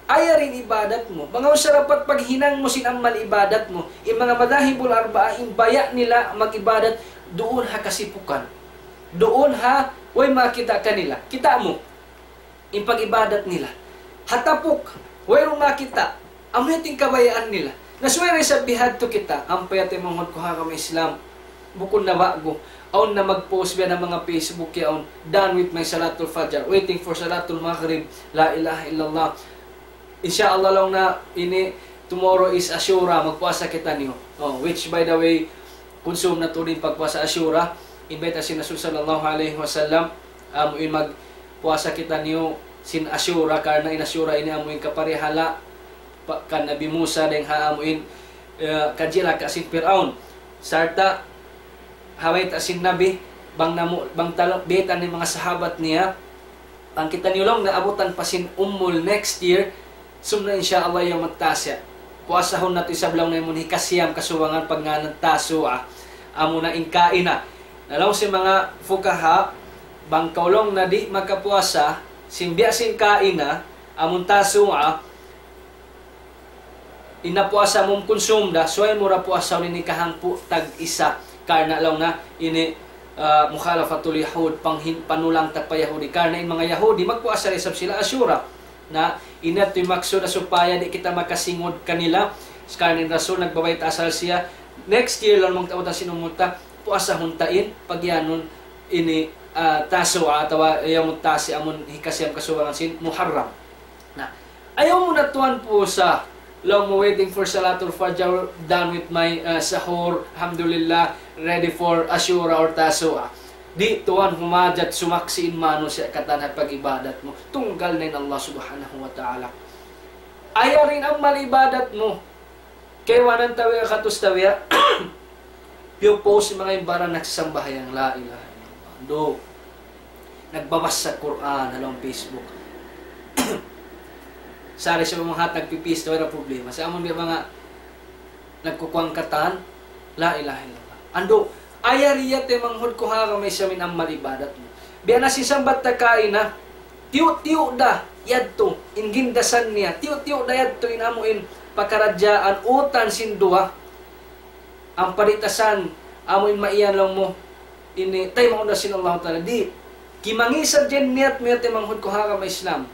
Ayari in ibadat mu. Bang awn sarapat paghinang mu sin amal ibadat mu. In manga madahibul arba'a, in baya' nila mag-ibadat duun ha kasipukan. Duun ha, way makakita' kanila. Kita' mu. In pag-ibadat nila. Ha tapuk, wayruun makakita'. Amu yadtu in kabayaan nila. Na subay da isab bihadtu kita, ampa yadtu in manga taymanghud ku ha agama Islam. Bukun na ba'gu. Awn na mag-post biya' na manga Facebook yaun, "Done with my Salatul Fajr, waiting for Salatul Maghrib, la ilaha illallah." Insha Allah laung na ini, tomorrow is Ashura, magpuasa kitaniyu. Oh, which by the way, kunsum natu' in pagpuasa Ashura, in bayta' sin Rasul sallallahu alayhi wasallam, amu in magpuasa kitaniyu sin Ashura, karna' in Ashura ini amu in kaparihala pa, kan Nabi Musa dayn ha amu in, eh, kajilaka sin Pir'aun. Sarta', ha bayta' sin Nabi, bang namu-, bang talo-, bayta' sin manga sahabat niya, bang kitaniyu laung naabutan pa sin Ummul next year, sumna insha Allah yawmut tasi'. Puasahun natu' isab laung na amun hikasiyam kasubangan pagngānan Tasu'a. Amu na in kaina. Na laung sin manga fukaha, bang kaw laung na di' makapuasa, sin biya' sin kaina, amun Tasu'a, in na puasa mu kunsum da, subay mu da puasahun ini kahangpu' tag-isa. Karna' laung na ini, ah, mukhalafatul yahud, panghin-, panulang ta pa Yahudi. Karna' in manga Yahudi, magpuasa da isab sila Ashura. Na, ini yadtu in maksud na supaya di' kita makasingud kanila. Karna' in Rasul nagbabayta' asal siya, next year laung, magtauta sin umul ta, puasahun ta in, pagiyanun ini, ah, Tasu'a atawa Yawmut Tasi' amun hikasiyam kasubangan sin Muharram. Na, ayaw mu na tuwan puasa. Laung mu waiting for Salatul Fajr, done with my, uh, sahur, alhamdulillah, ready for Ashura or Tasu'a. Di' tuwan humajat sumaksi' in manusiya' katan ha pag-ibadat mu. Tunggal na in Allah Subhanahu wa Ta'ala. Ayari in amal ibadat mu. Kaibanan tabiya' katus tabiya'. Piyu-post in manga imbaran nagsasambahayang, la ilaha illallah. Do. Nagbabasa Qur'an ha lawm Facebook. Sari sa manga hatag pipis, wala' problema. Sa' amun biya' manga nagkukuwang katan, la ilaha illallah. Andu', ayari yadtu taymanghud ku ha agama Islam in amal ibadat mu. Biya' na sin sambat ta kaina, tiyu'-tiyu' da yadtu, in gindasan niya, tiyu'-tiyu' da yadtu in amu in pakaradjaan utan sin duwa. Ampa di' ta san, amu in maiyan laung mu, ini, taymaun da sin Allahu Ta'ala. Di', kimangi' sadja in niyat mu yadtu taymanghud ku ha agama Islam.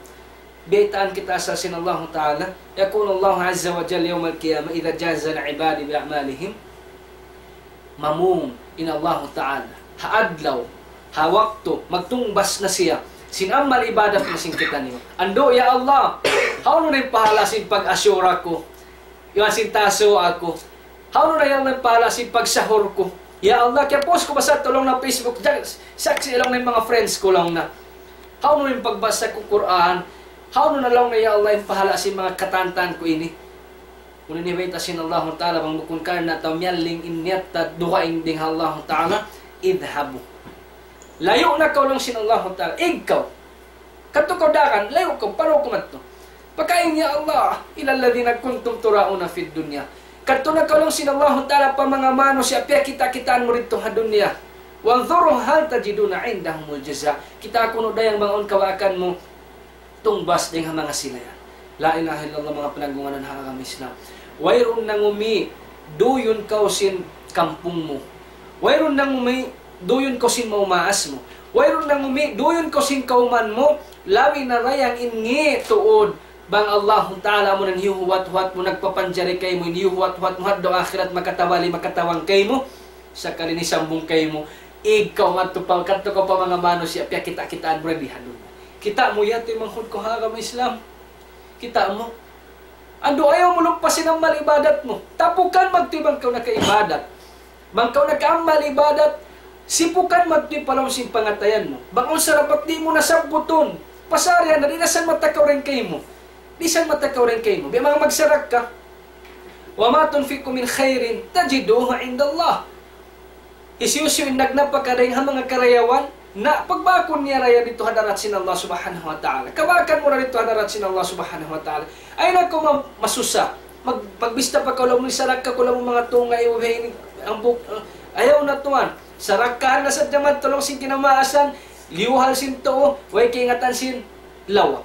Baytaan kita asal sin Allahu Ta'ala. يقول الله عز وجل يوم القيامة إذا جازى العباد بأعمالهم. Mamung in Allahu Ta'ala. Ha adlaw, ha waktu, magtungbas na siya sin amal ibadat mu sin kitaniyu. Andu', ya Allah, hawnu na in pahala sin pag-Ashura ku? Iban sin Tasu'a ku? Hawnu na, ya Allah, in pahala sin pagsahur ku? Ya Allah, kiya-post ku ba sa laung na Facebook, jag-, saksi' laung na in manga friends ku laung na. Hawnu in pagbasa ku Qur'an? Hawnu na laung niya, "Ya Allah, in pahala' sin manga katantan ku ini." Unu in bayta' sin Allahu Ta'ala, bang bukun karna' tau miyalling in niyat ta dugaing dayn ha Allahu Ta'ala, "Idhabu." Layu' na kaw laung sin Allahu Ta'ala. Ig kaw. Kadtu kaw dagan, layu' kaw, parau kaw madtu. Pakain, "Ya Allah, إلى الذين كنتم تراءون في الدنيا." Kadtu na kaw laung sin Allahu Ta'ala pa manga manusiya' piyakita'-kitaan mu didtu ha dunya. "وانظروا هل تجدون عندهم الجزاء." Kitaa kunu' dayang bang awn kawaakan mu tungbas dayn ha manga sila yan. La ilaha illallah, manga pinagngānan ha agama Islam. Wayruun nangumi, duyun kaw sin kampung mu. Wayruun nangumi, duyun kaw sin maumaas mu. Wayruun nangumi, duyun kaw sin kawman mu. Labi na dayang in ngi' tuud. Bang Allahu Ta'ala amu in hiyuhuwat-huwat mu, nagpapanjari kaymu, in hiyuhuwat-huwat mu, ha adlaw akhirat, makatabali, makatabang kaymu. Sakali ini sambung kaymu, ig kaw madtu pa, kadtu kaw pa manga manusiya', piyakita'-kitaan mu di ha dunya. Kita' mu ya, taymanghud ku ha agama Islam. Kita' mu. Andu', ayaw mu lupasin amal ibadat mu. Tapukan madtu bang kaw nakaibadat. Bang kaw nakaamal ibadat, sipukan madtu pa lawm sin pangatayan mu. Bang awn sarapat di' mu na sabbutun, pasarihan na, di' na san matakaw dayn kaymu. Di' san matakaw dayn kaymu. Biya' manga magsarakka. وما تنفقوا من خير تجدوه عند الله. Hisiyu-siyu in nagnapaka dayn ha manga karayawan, na pagbakun niya da yan didtu ha hadarat sin Allah Subhanahu wa Ta'ala. Kabakan mu da didtu ha hadarat sin Allah Subhanahu wa Ta'ala. Ayaw na kaw ma-, masusa. Mag-, magbista pa kaw, laung mu, "Sarakka ku, laung mu, manga tunga', ibu, ini, ang buk-, uh, ayaw na tuwan." Sarakkahan na sadja madtu laung sin kinamaasan, liyuhal sin tuu, way kaingatan sin lawa.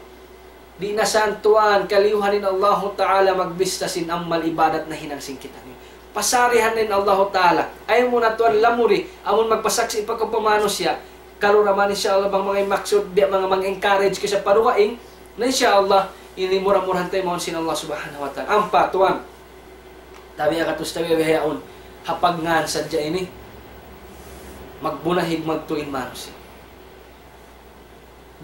Di' na san tuwan kaliyuhan in Allahu Ta'ala magbista sin amal ibadat nahinang sin kitaniyu. Pasarihan na in Allahu Ta'ala. Ayaw mu na tuwan lamuri, amun magpasaksi' pa kaw pa manusiya'. Kalu ra man, insya Allah, bang manga maksud, biya' manga mang-encourage kaysa pa dugaing. Na insya Allah, ini mura-murahan taymaun sin Allah Subhanahu wa Ta'ala. Ampa tuwan. Tabi' ha katus tabi' bihaun. Ha pagngān sadja ini. Magbunahig magtuy in manusiya'.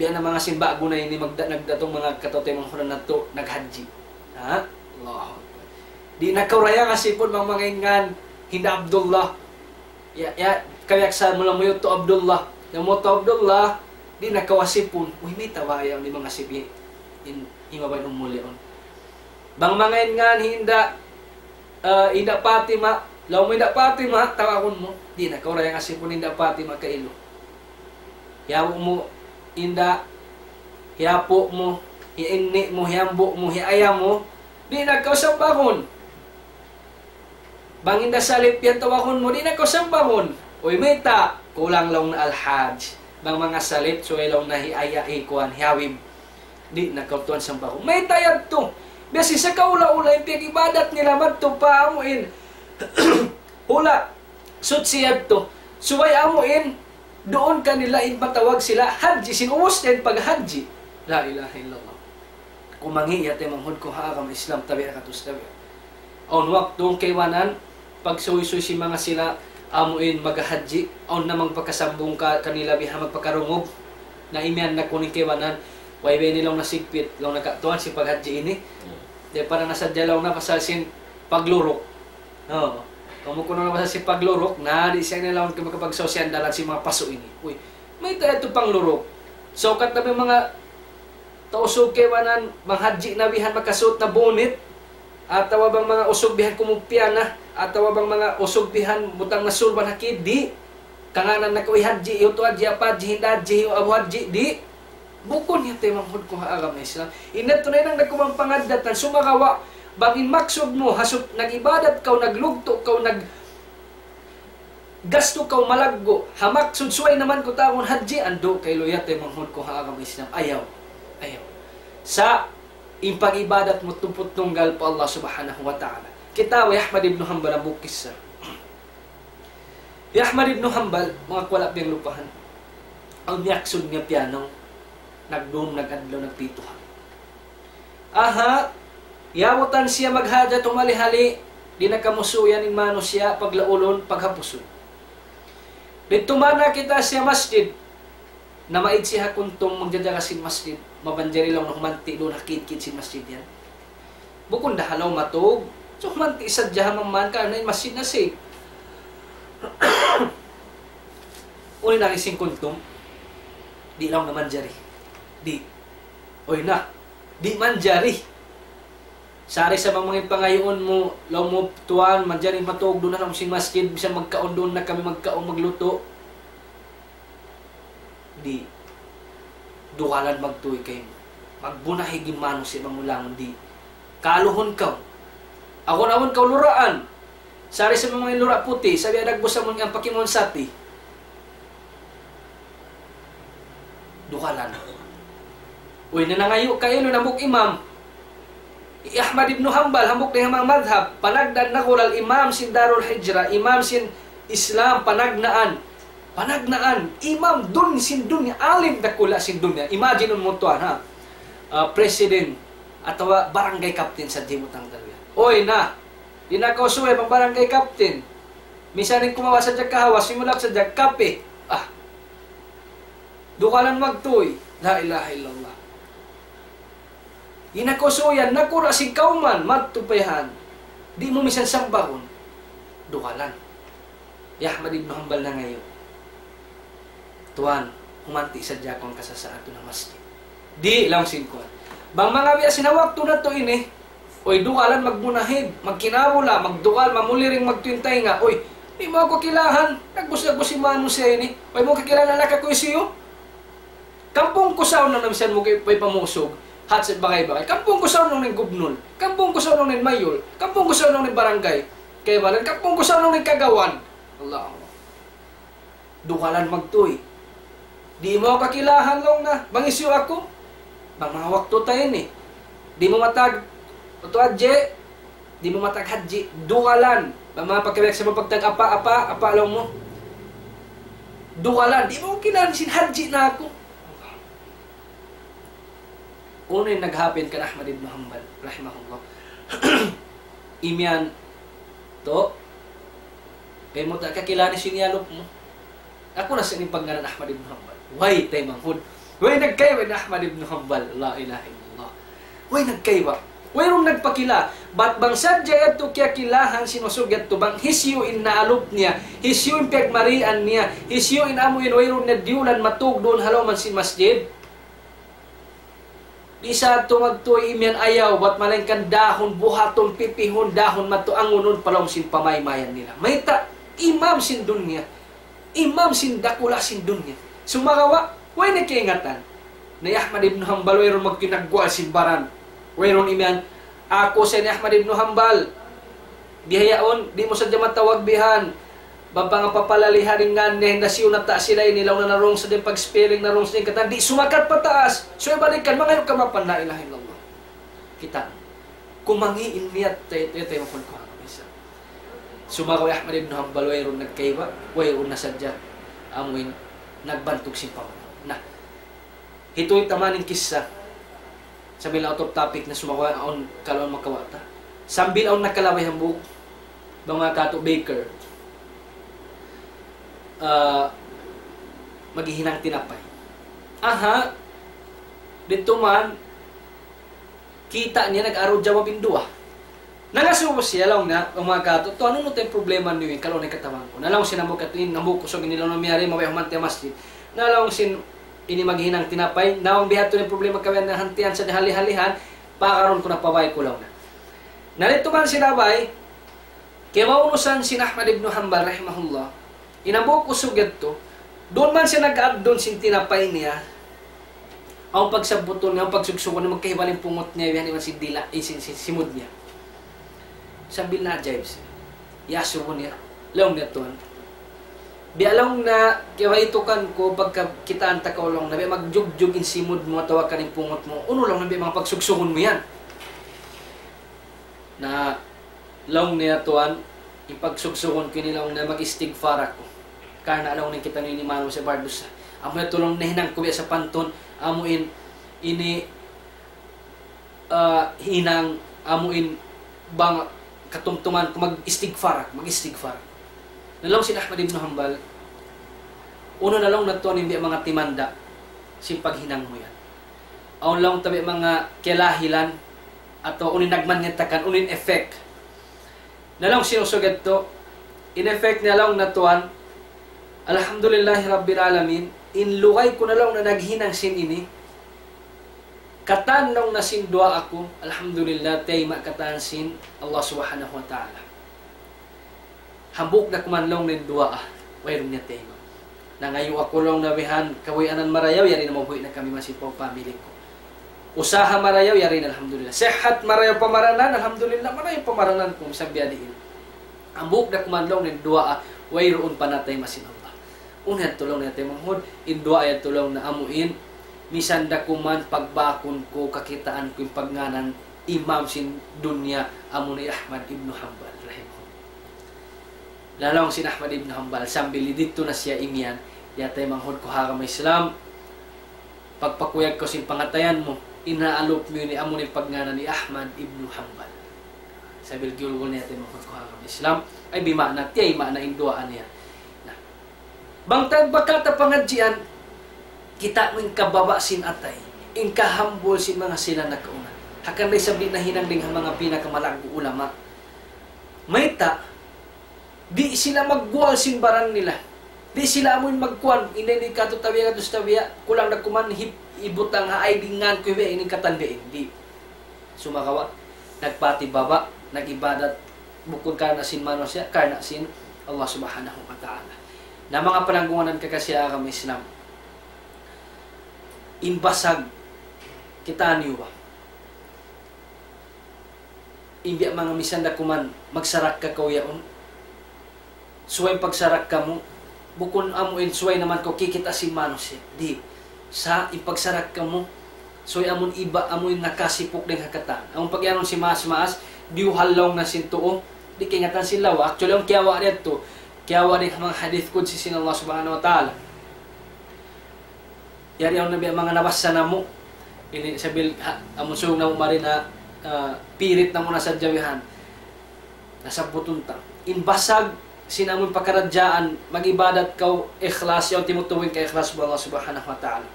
Biya' na manga sin ba'gu na ini magda-, nagdatung manga kataw-taymanghuran natu', naghajji. Ha? Allahu Akbar. Di' na kaw raya ngasipun bang manga in ngān hinda Abdullah. Ya, ya, kawiyaksahan mu lamuyut tu Abdullah. Lamuyut tu Abdullah, di' na kaw asipun. Uy, mayta' ba ayaw ni manga sibi in, in mabay umuli on. Bang manga in ngān hinda, ah, hinda Fatima, laung mu hinda Fatima, tawahun mu. Di' na kaw raya ngasipun hinda Fatima kailu. Hiyabu' mu, hinda, hiyapu' mu, hiya-inni' mu, hiyambu' mu, hiya-aya' mu, di' na kaw sambahun. Bang hinda Salip yan tawahun mu, di' na kaw sambahun. Uy, mayta', kulang laung na Al-Haj. Bang manga Salip, subay laung na hi-aya', hi kuwan, hi Habib. Di' na kaw tuwan sambahun. Mayta' yadtu. Biya' sin sa kahula'-hula' in piyag-ibadat nila madtu pa amu in hula' suchi yadtu. Subay amu in duun kanila in matawag sila hajji, sin ubus na in paghajji. La ilaha illallah. Kumangi' ya taymanghud ku ha agama Islam, tabi' ha katus tabi'. Awn waktu kaibanan, pagsuysuy sin manga sila, amu in maghajji, awn na magpakasambung ka-, kanila biha magpakarungug. Na imiyan na kunu' in kaibanan, way ba ini laung na sigpit, laung na katuan sin paghajji ini. Hmm. Di' pa na nasadja laung na pasal sin pagluruk. Oo. Kamu kunu' na pasal sin pagluruk, na di' siya ini laung na makapagsaw siya dalan sin manga pasu' ini. Uy, mayta' yadtu pangluruk. So, kat na manga tau usug kaibanan, bang hadji na bihan makasuut na bunit, atawa bang manga usug bihan kumupya na, atawa bang manga usug bihan butang na surban ha kidi, kangānan na kaw hadji, hiyu tu hadji, apa hadji, hinda hadji, hiyu abu hadji, di'. Bukun yadtu taymanghud ku ha agama Islam. In yadtu na hinang da ku bang pangaddatan, sumagawa', bang in maksud mu, ha sub-, nag-ibadat kaw, naglugtu' kaw, nag-, gastu kaw malaggu', ha maksud subay naman ku tawagun hadji, andu' kailu yadtu taymanghud ku ha agama Islam. Ayaw. Ayaw. Sa' in pag-ibadat mu tumput tunggal pa Allah Subhanahu wa Ta'ala. Kita' hi Ahmad ibn Hanbal hambuuk kissa. Hi Ahmad ibn Hanbal, manga kuwala' piyanglupahan. Awn miyaksud niya piyanaw, nagdum, nag-adlaw, nagpituhan. Aha, yabutan siya maghajat humali-hali, di' na kamusuyan in manusiya', paglaulun, paghapusun. Didtu man nakita' siya masjid. Namaid siya ha kuntum, magjajaga sin masjid. Mabanjari laung na humanti' duun ha kid-kid sin masjid yan. Bukun da ha lawm matug. So, humanti' sadja ha mamman karna' in masjid na safe. Unu in agi sin kuntum? Di' laung na manjari. Di'. Uy na. Di' manjari. Sari sa' bang manga pangayuun mu, laung mu, "Tuwan, manjari matug duun ha lawm sin masjid, bisan magkaun duun na kami magkaun maglutu." Di'. Dugalan magtuy kaymu. Magbunahig in manusiya' bang mu langun, di'. Kaluhun kaw. Awn-awn kaw luraan. Sari sa' manga lura' puti', sabi adag busa mun yang pakimun sati. Dugalan. Uy, nanangayu' kailu in hambuuk imam. Hi Ahmad ibn Hanbal, hambuuk dayn ha manga madhab, panagnaan, nagul al-imam sin Darul Hijrah, imam sin Islam, panagnaan. Panagnaan, imam duun sin dunya, alim dakula' sin dunya. Imagine mu tuwan, ha? Ah, president, atawa barangay captain sadja in butang darul. Uy, na, di' na kaw suyay bang barangay captain. Misan in kumawa' sadja kahawa, simulak sadja kape. Ah. Dugalan magtuy. La ilaha illallah. Di' na kaw suyay, nakura' sin kawman, madtu pa yan. Di' mu misan sambagun. Dugalan. Hi Ahmad ibn Hanbal nangayu', "Tuwan, humanti' sadja aku hangka sasa'at ha masjid." Di', laung sin kuwan. Bang manga biya' sin ha waktu natu' ini, uy, dugalan magmunahid, magkinabula, magdugal, mamuliring, magtuy in taynga. Uy, di' mu aku kakilahan, nagbus-nagbus in manusiya' ini. Uy, di' mu kakilahan, anak aku hisiyu. Kampung ku sa' unu na misan mu kay, way pamusug, hat sa bagay-bagay. Kampung ku sa' unu in gubnul. Kampung ku sa' unu in mayul. Kampung ku sa' unu in barangay. Kaibanan, kampung ku sa' unu in kagawan. Allah. Dugalan magtuy. Di' mu kakilahan laung na. Bang hisiyu aku. Bang manga waktu ta ini. Di' mu matag, Utu Hadji, di' mu matag Hadji, dugalan. Bang manga pagkabiyaksa mu pagtag apa, apa, apa laung mu. Dugalan, di' mu kilahan sin Hadji na aku. Unu in naghapin kan Ahmad ibn Hanbal, rahimahullah. Imiyan, to, kay mu ta kakilahan sin iyalup mu. Aku na sa' in pagngānan Ahmad ibn Hanbal. Way taymanghud. Way nagkaiwa in Ahmad ibn Hanbal. La ilaha illallah. Way nagkaiwa. Wayruun nagpakila. Bat bang sadja yadtu kiyakilahan sin usug yadtu bang hisiyu in naalup niya, hisiyu in piyagmarian niya, hisiyu in amu in wayruun niya diyulan matug duun ha lawm sin masjid. Di' sa yadtu magtuy imiyan ayaw, bat malaingkan dahun, buhatun, pipihun, dahun, madtu angunun pa lawm sin pamaymayan nila. Mayta', imam sin dunya, imam sin dakula' sin dunya. Sumagawa', way na kaingatan. Na hi Ahmad ibn Hanbal, wayruun magkinagguwa' sin baran. Wayruun imiyan, aku sa' hi Ahmad ibn Hanbal. Bihaun, di' mu sadja matawag bihan. Bang pangapapalalihan in ngan niya, hinda siyu nata' sila ini, laung na narung sa' din pag-spelling, narung sa' din katan, di' sumakat pataas. So, ibalikan, mangayu' kamapan, la ilaha illallah. Kita'. Kumangi' in niyat, tay, tay, tay, makul kuha, bisa. Sumagawa' hi Ahmad ibn Hanbal, wayruun nagkaiwa, wayruun na sadja, amuin, nagbantug sin pamana. Na, hituy ta man in kissa. Sambil out of topic na, sumagawa' awn kalu makawa' ta. Sambil awn nakalabay hambuuk, bang manga katu' baker. Ah, maghihinang tinapay. Aha, didtu man, kita' niya nag-aru jawab in duwa. Nangasubu siya, laung niya, "O manga katu', tuwan, unu tuud in problema niyu, kalu na in katabang ku." Na laung sin hambuuk katu' ini, hambuuk usug ini, laung niya, "Miyari, mabaya' humanti' ha masjid." Na laung sin ini maghihinang tinapay, "Na bang biya' ha yan in problema ku, na hantian sa dihali-halihan, pakarun ku na pa bāy ku," laung niya. Na didtu man sila bāy, kiyaunusan sin Ahmad ibn Hanbal rahimahullah, in hambuuk usug yadtu, duun man siya nag-addun sin tinapay niya. Awn pagsabbutun niya, awn pagsugsugun niya, magkahibal in pungut niya, yan iban sin dila', eh, sin, sin simud niya. Sambil naajaib siya. Iyasubu niya. Laung niya, "Tuwan, biya' laung na kiyabaytukan ku pagka kitaan ta kaw laung na biya' magjugjug in simud mu atawa kan in pungut mu. Unu laung na biya' manga pagsugsugun mu yan?" Na laung niya, "Tuwan, in pagsugsugun ku ini laung na mag-istigfar aku. Karna' laung niya kitaniyu ini manusiya' bardusa. Amu yadtu laung nahinang ku biya' sapantun, amu in, ini, ah, hinang, amu in bang katumtuman ku mag-istigfar aku, mag-istigfar." Na laung sin Ahmad ibn Hanbal, "Unu na laung na tuwan in biya' manga timanda' sin paghinang mu yan? Awn laung ta biya' manga kalahilan, atawa unu in nagmanyatakan, unu in effect?" Na laung sin usug yadtu, in effect niya laung na tuwan, "Alhamdulillahi Rabbil Alamin, in lugay ku na laung na naghinang sin ini, Katan laung na sin duwaa ku, alhamdulillah, tayma' katan sin Allah Subhanahu wa Ta'ala. Hambuuk da kuman laung na in duwaa, wayruun niya tayma'. Nangayu' aku laung na bihan, kabuhianan marayaw, yari na mabuhi' na kami masi pa family ku. Usaha marayaw, yari na, alhamdulillah. Sihat marayaw pamaranan, alhamdulillah, marayaw pamaranan ku, misan biya' diin. Hambuuk da kuman laung na in duwaa, wayruun pa na tayma' sin Allah. Unu yan laung niya taymanghud, in duwaa yan laung na amu in, misan da kuman pagbakun ku kakitaan ku in pagngānan imam sin dunya amu in Ahmad ibn Hanbal, rahimahullah. Laung sin Ahmad ibn Hanbal, sambil didtu na siya imiyan, ya taymanghud ku ha agama Islam, pagpakuyag kaw sin pangatayan mu, in naalup mu ini amu in pagngānan hi Ahmad ibn Hanbal. Sambil giyulgul niya taymanghud ku ha agama Islam, ay bima'na, tiyayma' na in duwaa niya. Na, bang ta, bang ta pangadjian, kita' mu in kababa' sin atay, in kahambul sin manga sila nakauna. Hangkan da isab di' nahinang dayn ha manga pinakamalaggu' ulama. Mayta', di' sila magguwal sin baran nila. Di' sila amuin magkuan, ini, ini katu' tabiya', katu' tabiya', kulang da kuman hip-, ibutang ha ay dingan ku ibe, ini katan be, di'. Sumagawa', nagpatibaba', nag-ibadat, bukun karna' sin manusiya', karna' sin Allah Subhanahu wa Ta'ala. Na manga palanggungan kakaasi ha agama Islam. In basag, kitaa niyu ba? In biya' manga misan da kuman, magsarakka kaw yaun. Subay in pagsarakka mu, bukun amu in subay naman kaw kikita' sin manusiya'. Di'. Sa' in pagsarakka mu, subay amun iba, amu in nakasipuk dayn ha katan. Amun pagiyanun sin maas-maas, diyuhal laung na sin tuu, di' kaingatan sin lawa. Actually, amun kiyawa' niya yadtu, kiyawa' dayn ha manga hadith qudsi sin Allah Subhanahu wa Ta'ala. Yari awn na biya' manga nabassa namu'. Ini sabil, ha, amun suyung namu' mari na, ah, pirit namu' na sadja bihan. Nasabbutun ta. In basag sin amun pakaradjaan, mag-ibadat kaw ikhlas, yaun timutubu in kaikhlas pa Allah Subhanahu wa Ta'ala.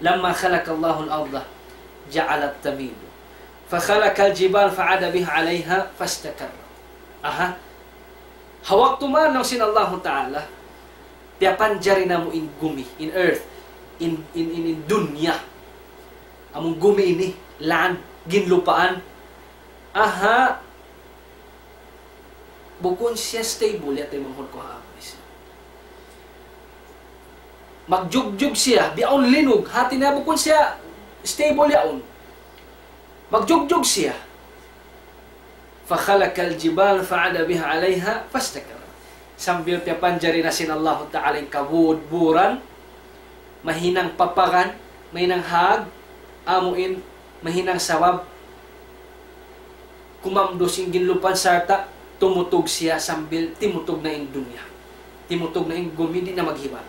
لما خلق الله الأرض جعلها تميد فخلق الجبال فعاد بها عليها فاستقرت. Aha. Ha waktu mayan laung sin Allahu Ta'ala, piyapanjari namu' in gumi, in earth, in, in, in, in dunya. Amun gumi ini, land, ginlupaan. Aha, bukun siya stable, ya taymanghud ku ha agama Islam. Magjugjug siya, biya' awn linug, hati niya bukun siya stable yaun. Magjugjug siya. فخلق الجبال فعاد بها عليها فاستقرت. Sambil piyapanjari na sin Allahu Ta'ala in kabudburan, mahinang paparan, mahinang hag, amu in mahinang sabab, kumamdus in ginlupaan sarta' tumutug siya sambil timutug na in dunya. Timutug na in gumi, di' na maghibal.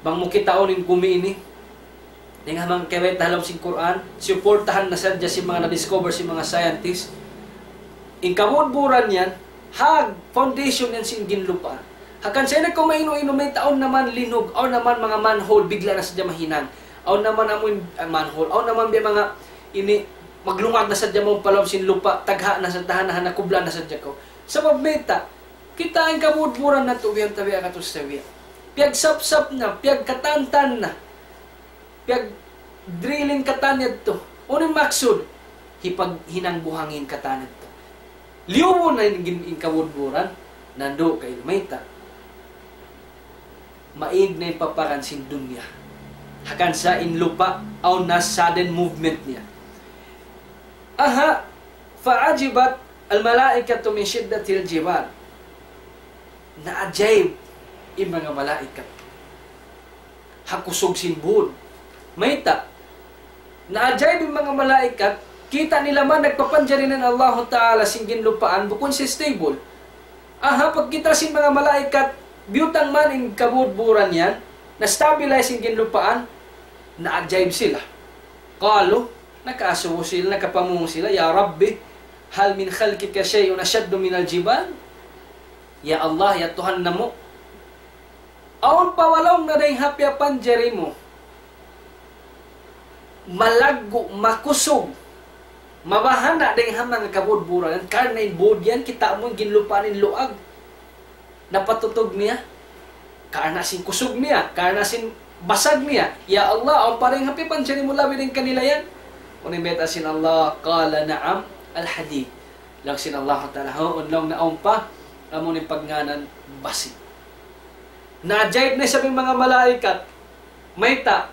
Bang mu kitaun in gumi ini, dayn ha manga kiyabayta' ha lawm sin Qur'an, suportahan na sadja sin manga na-discover sin manga scientist. In kabudburan yan, hag foundation yan sin ginlupaan. Hangkan sa' na kaw mainu-inu, mayta' awn naman linug, awn naman manga manhole, bigla na sadja mahinang. Awn naman amuin, ah, manhole, awn naman biya' manga ini, maglungag na sadja mawn pa lawm sin lupa', tagha' na sa' tahan na, nakubla na sadja kaw. Sabab mayta', kita' in kabudburan natu' biya' tabiya' katu' sa biya'. Piyagsapsap na, piyagkatantan na. Piyag-drilling katan yadtu. Unu in maksud? Hipaghinang buhangin katan yadtu. Liyubu na in, in, in kabudburan, nandu' kay mayta'. Maig na in paparan sin dunya. Hangkan sa' in lupa', awn na sudden movement niya. Aha, فعجبت الملائكة من شدة الجبال. Naajaib in manga malaikat ha kusug sin būd. Mayta'? Naajaib in manga malaikat, kita' nila man nagpapanjari na in Allahu Ta'ala sin ginlupaan, bukun siya stable. Aha, pagkita' sin manga malaikat, biyutang man in kabudburan yan, na-stabilize in ginlupaan, naajaib sila. قالوا, nakaasubu sila, nakapamung sila, يا رب هل من خلقك شيء أشد من الجبال؟ Ya Allah, ya Tuhan namu', awn pa wala' na dayn ha piyapanjari mu malaggu', makusug, mabahana' dayn ha manga kabudburan, karna' in būd yan, kita' mu in ginlupaan in luag. Napatutug niya, karna' sin kusug niya, karna' sin basag niya, "Ya Allah, awn pa dayn ha piyapanjari mu labi dayn kanila yan?" Unu in bayta' sin Allah, قال نعم الحديد. Laung sin Allah Ta'ala, "Huun," laung, "na awn pa, amu in pagngānan basi'." Naajaib na isab in manga malaikat. Mayta',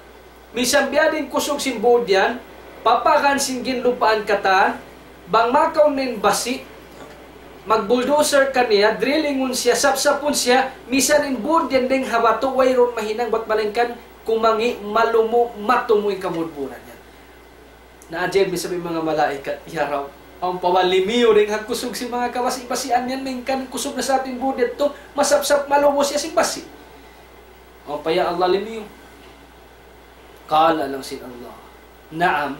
misan biya' diin kusug sin būd yan, papagan sin ginlupaan katan, bang makaun na in basi', mag-bulldozer kaniya, drillingun siya, sapsapun siya, misan in būd yan dayn ha batu', wayruun mahinang bat malaingkan kumangi', malumu', matumu' in kabudburan yan. Naajaib na isab in manga malaikat, "Ya Rabb, awn pa ba limiyu dayn ha kusug sin manga kabasi'-basian yan, malayngkan kusug na sa in būd yadtu, masapsap, malumu' siya sin basi'. Awn pa, ya Allah, limiyu?" قال, laung sin Allah, "نعم,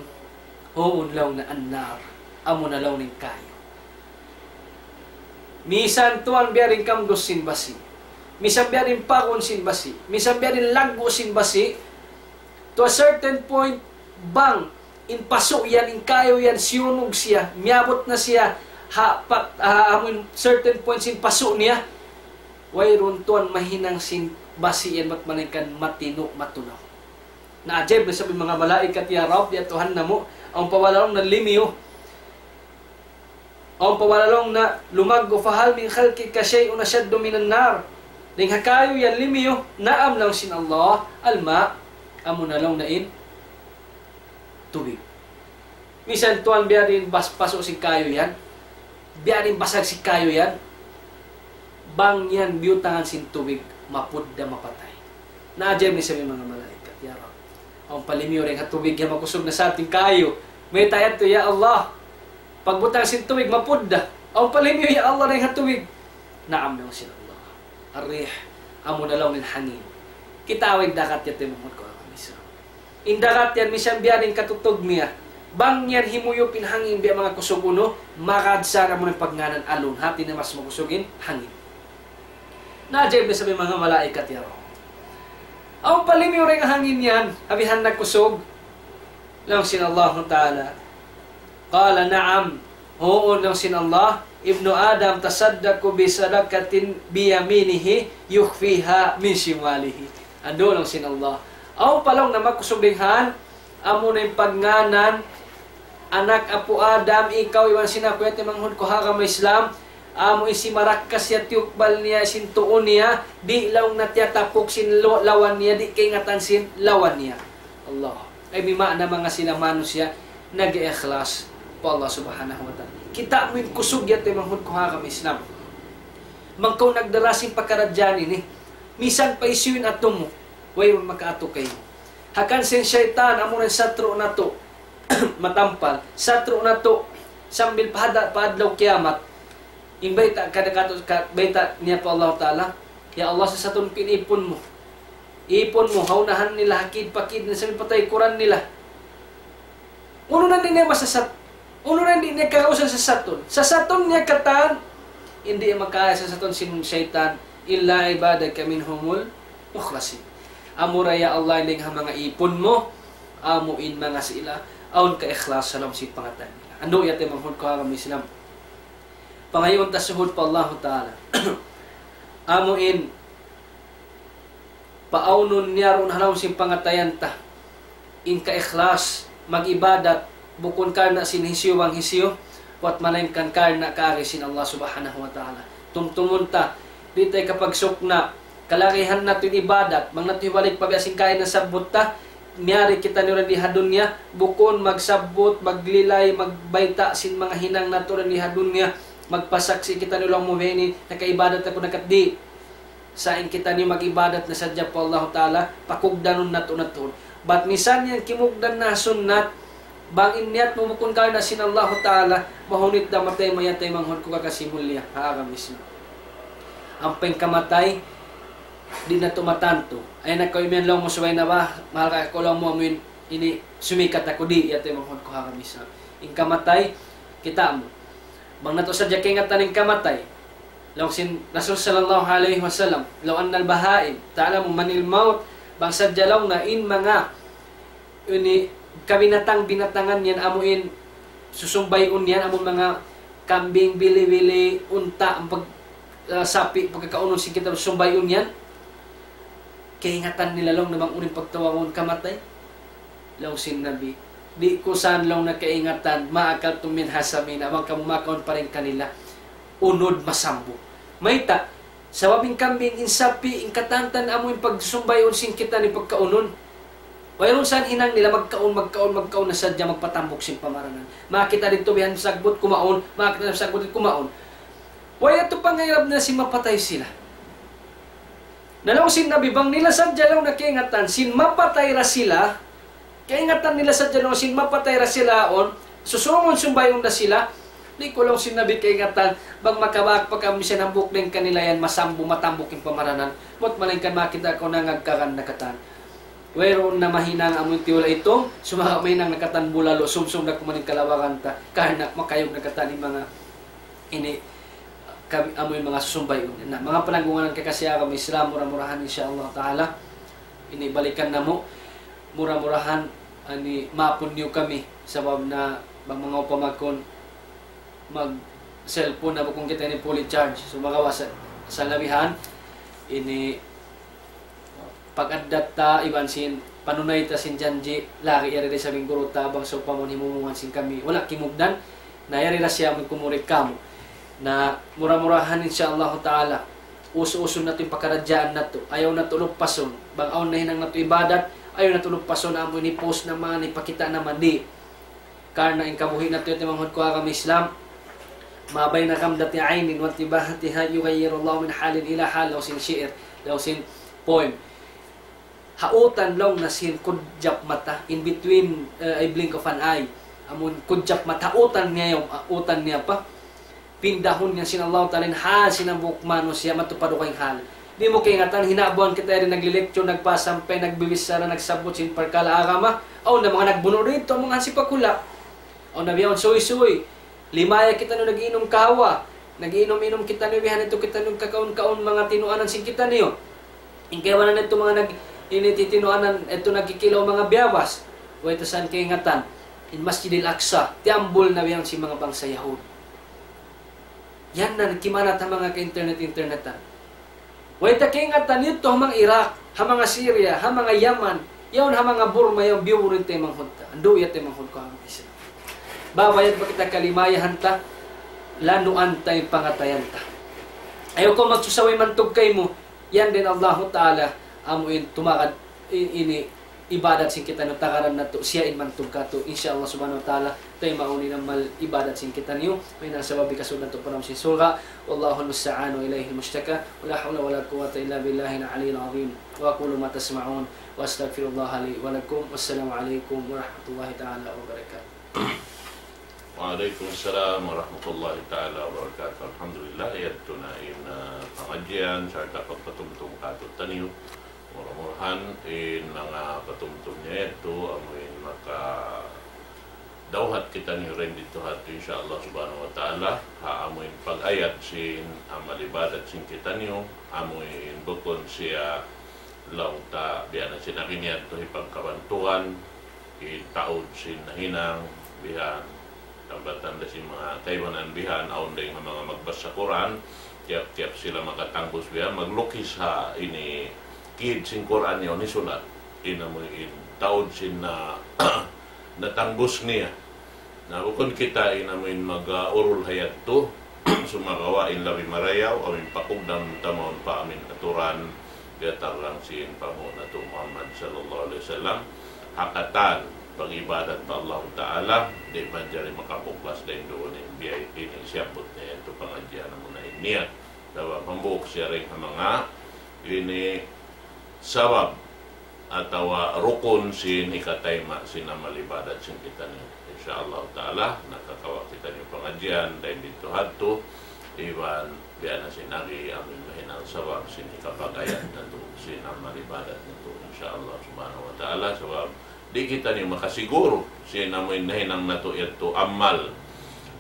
huun," laung, "na النار, amu na," laung, "in kayu." Misan tuwan biya' diin kamdus sin basi', misan biya' diin pagun sin basi', misan biya' diin laggu' sin basi', to a certain point, bang in pasu' yan, in kayu yan, siyunug siya, miyabut na siya ha, pat, ha, amu in certain point sin pasu' niya, wayruun tuwan mahinang sin basi' yan bat malaingkan matinu', matunaw. Naajaib na isab in manga malaikat, "Ya Rabb, ya Tuhan namu', awn pa wala' laung na limiyu? Awn pa wala' laung na lumaggu'? فهل من خلقك شيء أشد من النار?" Dayn ha kayu yan limiyu? "نعم," laung sin Allah, "الماء, amu na," laung, "na in tubig." Misan tuwan biya' diin bas-, pasu' sin kayu yan, biya' diin basag sin kayu yan, bang yan biyutangan sin tubig, mapudda, mapatay. Naajaib na isab in manga malaikat, "Ya Rabb, awn pa limiyu dayn ha tubig yan, makusug na sa in kayu? Mayta' yadtu, ya Allah? Pagbutang sin tubig, mapudda. Awn pa limiyu, ya Allah, dayn ha tubig?" "نعم," laung sin Allah. "الريح, amu na," laung, "in hangin." Kitaa in dagat yan, taymanghud ku ha agama Islam. In dagat yan, misan biya' diin katutug niya, bang yan himuyup in hangin biya' manga kusug unu, magad sa amu in pagngānan alun. Hati niya mas makusug in hangin. Naajaib na isab in manga malaikat, "Ya Rabb, awn pa limiyu dayn ha hangin yan, ha bihan na kusug?" Laung sin Allah Ta'ala, "قال نعم, huun," laung sin Allah, "ابن آدم يتصدق بصدقة بيمينه يخفيها عن شماله." Andu', laung sin Allah, awn pa, laung, na makusug dayn ha yan, amu na in pagngānan, anak apu' Adam, ikaw iban sin aku, ya taymanghud ku ha agama Islam, amu in simarakkas siya, tiyukbal niya sin tuu niya, di', laung, na tiyatapuk sin lo-, lawa niya, di' kaingatan sin lawa niya. Allah. Ay, bima'na manga sila manusiya' nag-ikhlas pa Allah Subhanahu wa Ta'ala. Kitaa mu in kusug, ya taymanghud ku ha agama Islam. Bang kaw nagdara sin pakaradjaan ini, misan pa hisiyu in atu mu, wayruun makaatu kaymu. Hangkan sin saytan, amu in satru' natu' matampal, satru' natu' sambil pa hada-, pa adlaw kiyamat. In bayta' kadakatu ka-, bayta' niya pa Allah Ta'ala, "Ya Allah, sasatun ku in ipun mu. Ipun mu, ha unahan nila, ha kid pa kid nila, sambil pa taykuran nila." Unu na in di' niya masasat-, unu na in di' niya kagausan sasatun? Sasatun niya katan, di' niya makaaya sasatun sin saytan, "إلا عبادك منهم المخلصين." Amura, ya Allah, in dayn ha manga ipun mu, amu in manga sila awn kaikhlas ha lawm sin pangatayan nila. Andu', ya taymanghud ku ha agama Islam. Pangayuun ta suhud pa Allahu Ta'ala. Amu in paawnun niya duun ha lawm sin pangatayan ta in kaikhlas, mag-ibadat, bukun karna' sin hisiyu bang hisiyu, bat malaingkan karna' kaagi sin Allah Subhanahu wa Ta'ala. Tumtumun ta, di' ta kapagsukna', kalagihan natu' in ibadat, bang natu' hibalik pa biya' sin kaina nasabbut ta, miyari kitaniyu dayn di ha dunya, bukun magsabbut, maglilay, magbayta' sin manga hinang natu' dayn di ha dunya, magpasaksi' kitaniyu laung mu biya' ini, nakaibadat aku, nakat di'. Sa' in kitaniyu mag-ibadat na sadja pa Allahu Ta'ala, pakugdanun natu' natu'. Bat misan yan kimugdan na sunnat, bang in niyat mu bukun karna' sin Allahu Ta'ala, mahunit da matay mu, ya taymanghud ku kakasi mulliya ha agama Islam. Ampa in kamatay, di' natu' matantu. Ay, na kaw imiyan laung mu subay na ba, mahal ka aku laung mu amuin, ini sumikat aku, di', ya taymanghud ku ha agama Islam. In kamatay, kitaa mu. Bang natu' sadja kaingatan in kamatay, laung sin Rasul sallallahu alayhi wasallam, "لو أن البهائم تعلم من الموت," bang sadja laung niya in manga ini kabinatang-binatangan yan, amu in susumbayun yan, amu manga kambing, bili-bili, unta', pag-, ah, sapi', pagkakaunun sin kita susumbayun yan. Kaingatan nila laung na bang unu in pagtawagun kamatay? Laung sin Nabi, di' ku sa laung na kaingatan, ma akaltum minha samina, bang kamu makaun pa dayn kanila unud masambung. Mayta'? Sabab in kambing, in sapi', in katan-katan amu in pagsusumbayun sin kita ini pagkaunun. Wayruun sa in hinang nila, magkaun, magkaun, magkaun na sadja magpatambuk sin pamaranan. Makakita' didtu bihan sagbut kumaun, makakita' sagbut kumaun. Way yadtu pangairab nila sin mapatay sila. Na laung sin Nabi, bang nila sadja laung na kaingatan sin mapatay da sila, kaingatan nila sadja laung sin mapatay da sila yaun, susungun sumbayun da sila, di' ku laung sin Nabi kaingatan bang makabak pa kami sin hambuuk dayn kanila yan masambung, matambuk in pamaranan. Mut malayngkan makakita' kaw nangagkakan na katan. Wayruun na mahinang amu in tiyula' itung, sumagawa' mahinang na katan bulalu, sumsum da kuman in kalawagan ta, karna' makayug na katan in manga ini, kami, amu in manga susumbayun. Na, manga palanggungan kakasi ha agama Islam, mura-murahan, insya Allah Ta'ala, ini balikan namu', mura-murahan, ani, maapun niyu kami, sabab na, bang manga upama kun, mag-cellphone na bukun kita ini fully charge. So, magawa sa, sa labihan, ini, pag-addat ta, iban sin, panunay ta sin janji', lagi' yari da isab in guru ta, bang sawpama himumungan sin kami, wala' kimugdan, na yari da siya magkumurik kamu. Na mura-murahan, insya Allah Ta'ala, usu-usun natu' in pakaradjaan natu', ayaw natu' lupasun, bang awn nahinang natu' ibadat, ayaw natu' lupasun, amu ini post naman, ipakita' naman, di'. Karna' in kabuhi' natu' yadtu manghud ku ha agama Islam, ما بين غمضة عين وانتباهتها يغير الله من حال إلى حال, laung sin shi'ir, laung sin poem. Ha utan laung na sin kudjap mata, in between, uh, a blink of an eye. Amun kudjap mata, ha utan niya yaun, ha utan niya pa. Pindahun niya sin Allah Ta'ala in hal sin hambuuk manusiya' madtu pa dugaing hal. Di' mu kaingatan, hinabuan kita yari nagli-lecture, nagpasampay, nagbibichara, nagsabbut sin parkala' agama. Awn na manga nagbunu' didtu, manga hansipak hula'. Awn na biya' yaun suysuy. Limaya kitaniyu nag-iinum kahawa. Nag-iinum-inum kitaniyu, bihan yadtu kitaniyu kakaun-kaun manga tinuanan sin kitaniyu. In kaibanan yadtu manga nag-, ini titinuanan, yadtu nagkikilaw manga biyawas. Way ta sa kaingatan. In Masjidil Aqsa, tiyambul na biya' yaun sin manga bangsa Yahud. Yan na, kimanat ha manga ka-internet-internetan. Way ta kaingatan yadtu ha manga Iraq, ha manga Syria, ha manga Yaman, yaun ha manga Burma, yaun biyuburin ta in manghud ta. Andu' yadtu in manghud ku ha manga Islam. Babayad pa kita kalimayahan ta, lanuan ta in pangatayan ta. Ayaw kaw magsusa way mantug kaymu, yan da in Allahu Ta'ala, amu in tumagad, i-, ini, ibadat sin kitaniyu, tagaran natu', siya in mantug kātu'. Insya Allah subhanahu wa ta'ala, taymaun in amal ibadat sin kitaniyu, mahinang sabab hikasud natu' pa lawm sin surga'. والله المستعان وإليه المشتكى، ولا حول ولا قوة إلا بالله العلي العظيم. وأقول ما تسمعون، وأستغفر الله لي ولكم. والسلام عليكم ورحمة الله تعالى وبركاته. وعليكم السلام ورحمة الله تعالى وبركاته. Alhamdulillah, yadtu na in, ah, pangadjian sarta' pagpatumtum kātu'niyu. Mura-murahan in manga patumtum niya yadtu amu in makadawhat kitaniyu dayn didtu ha yadtu, insya Allah subhanahu wa ta'ala, ha amu in pag-ayad sin amal ibadat sin kitaniyu, amu in bukun siya laung ta biya' na sin agi niya yadtu hipagkabantugan, hitaud sin nahinang, bihan, tanda-tanda sin manga kaibanan bihan, awn dayn ha manga magbasa Qur'an, tiyap-tiyap sila makatangbus bihan, maglukis ha ini kid sin Qur'an yaun hisulat. In amu in taud sin na, natangbus niya. Na bukun kita in amu in mag-, ah, urul ha yadtu, sumagawa' in labi marayaw, amu in pakugdan ta mawn pa amu in aturan, biya' tarang sin panghu' natu' Muhammad sallallahu alayhi wasallam, ha katan pag-ibadat pa Allah Ta'ala, di' manjari makapuglas dayn duun in biya' ini siyabbut niya yadtu pangadjian amu na in niyat. Sabab hambuuk siya dayn ha manga ini sabab atawa rukun sin hikatayma' sin amal ibadat sin kitaniyu. Insya Allah Ta'ala, nakakawa' kitaniyu pangadjian dayn didtu ha yadtu, iban biya' na sin agi amu in mahinang sabab sin hikapag-ayad natu' sin amal ibadat natu', insya Allah subhanahu wa ta'ala, sabab di' kitaniyu makasiguru sin amu in nahinang natu' yadtu amal.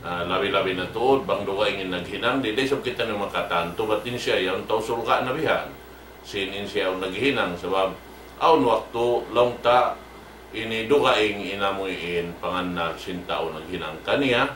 Ah, labi-labi na tuud, bang dugaing in naghinang, di', di' isab kitaniyu makatantu, bat in siya yaun tau surga' na bihan. Sin in siya yaun naghinang, sabab awn waktu laung ta ini dugaing in amu in pangannal sin tau naghinang kaniya,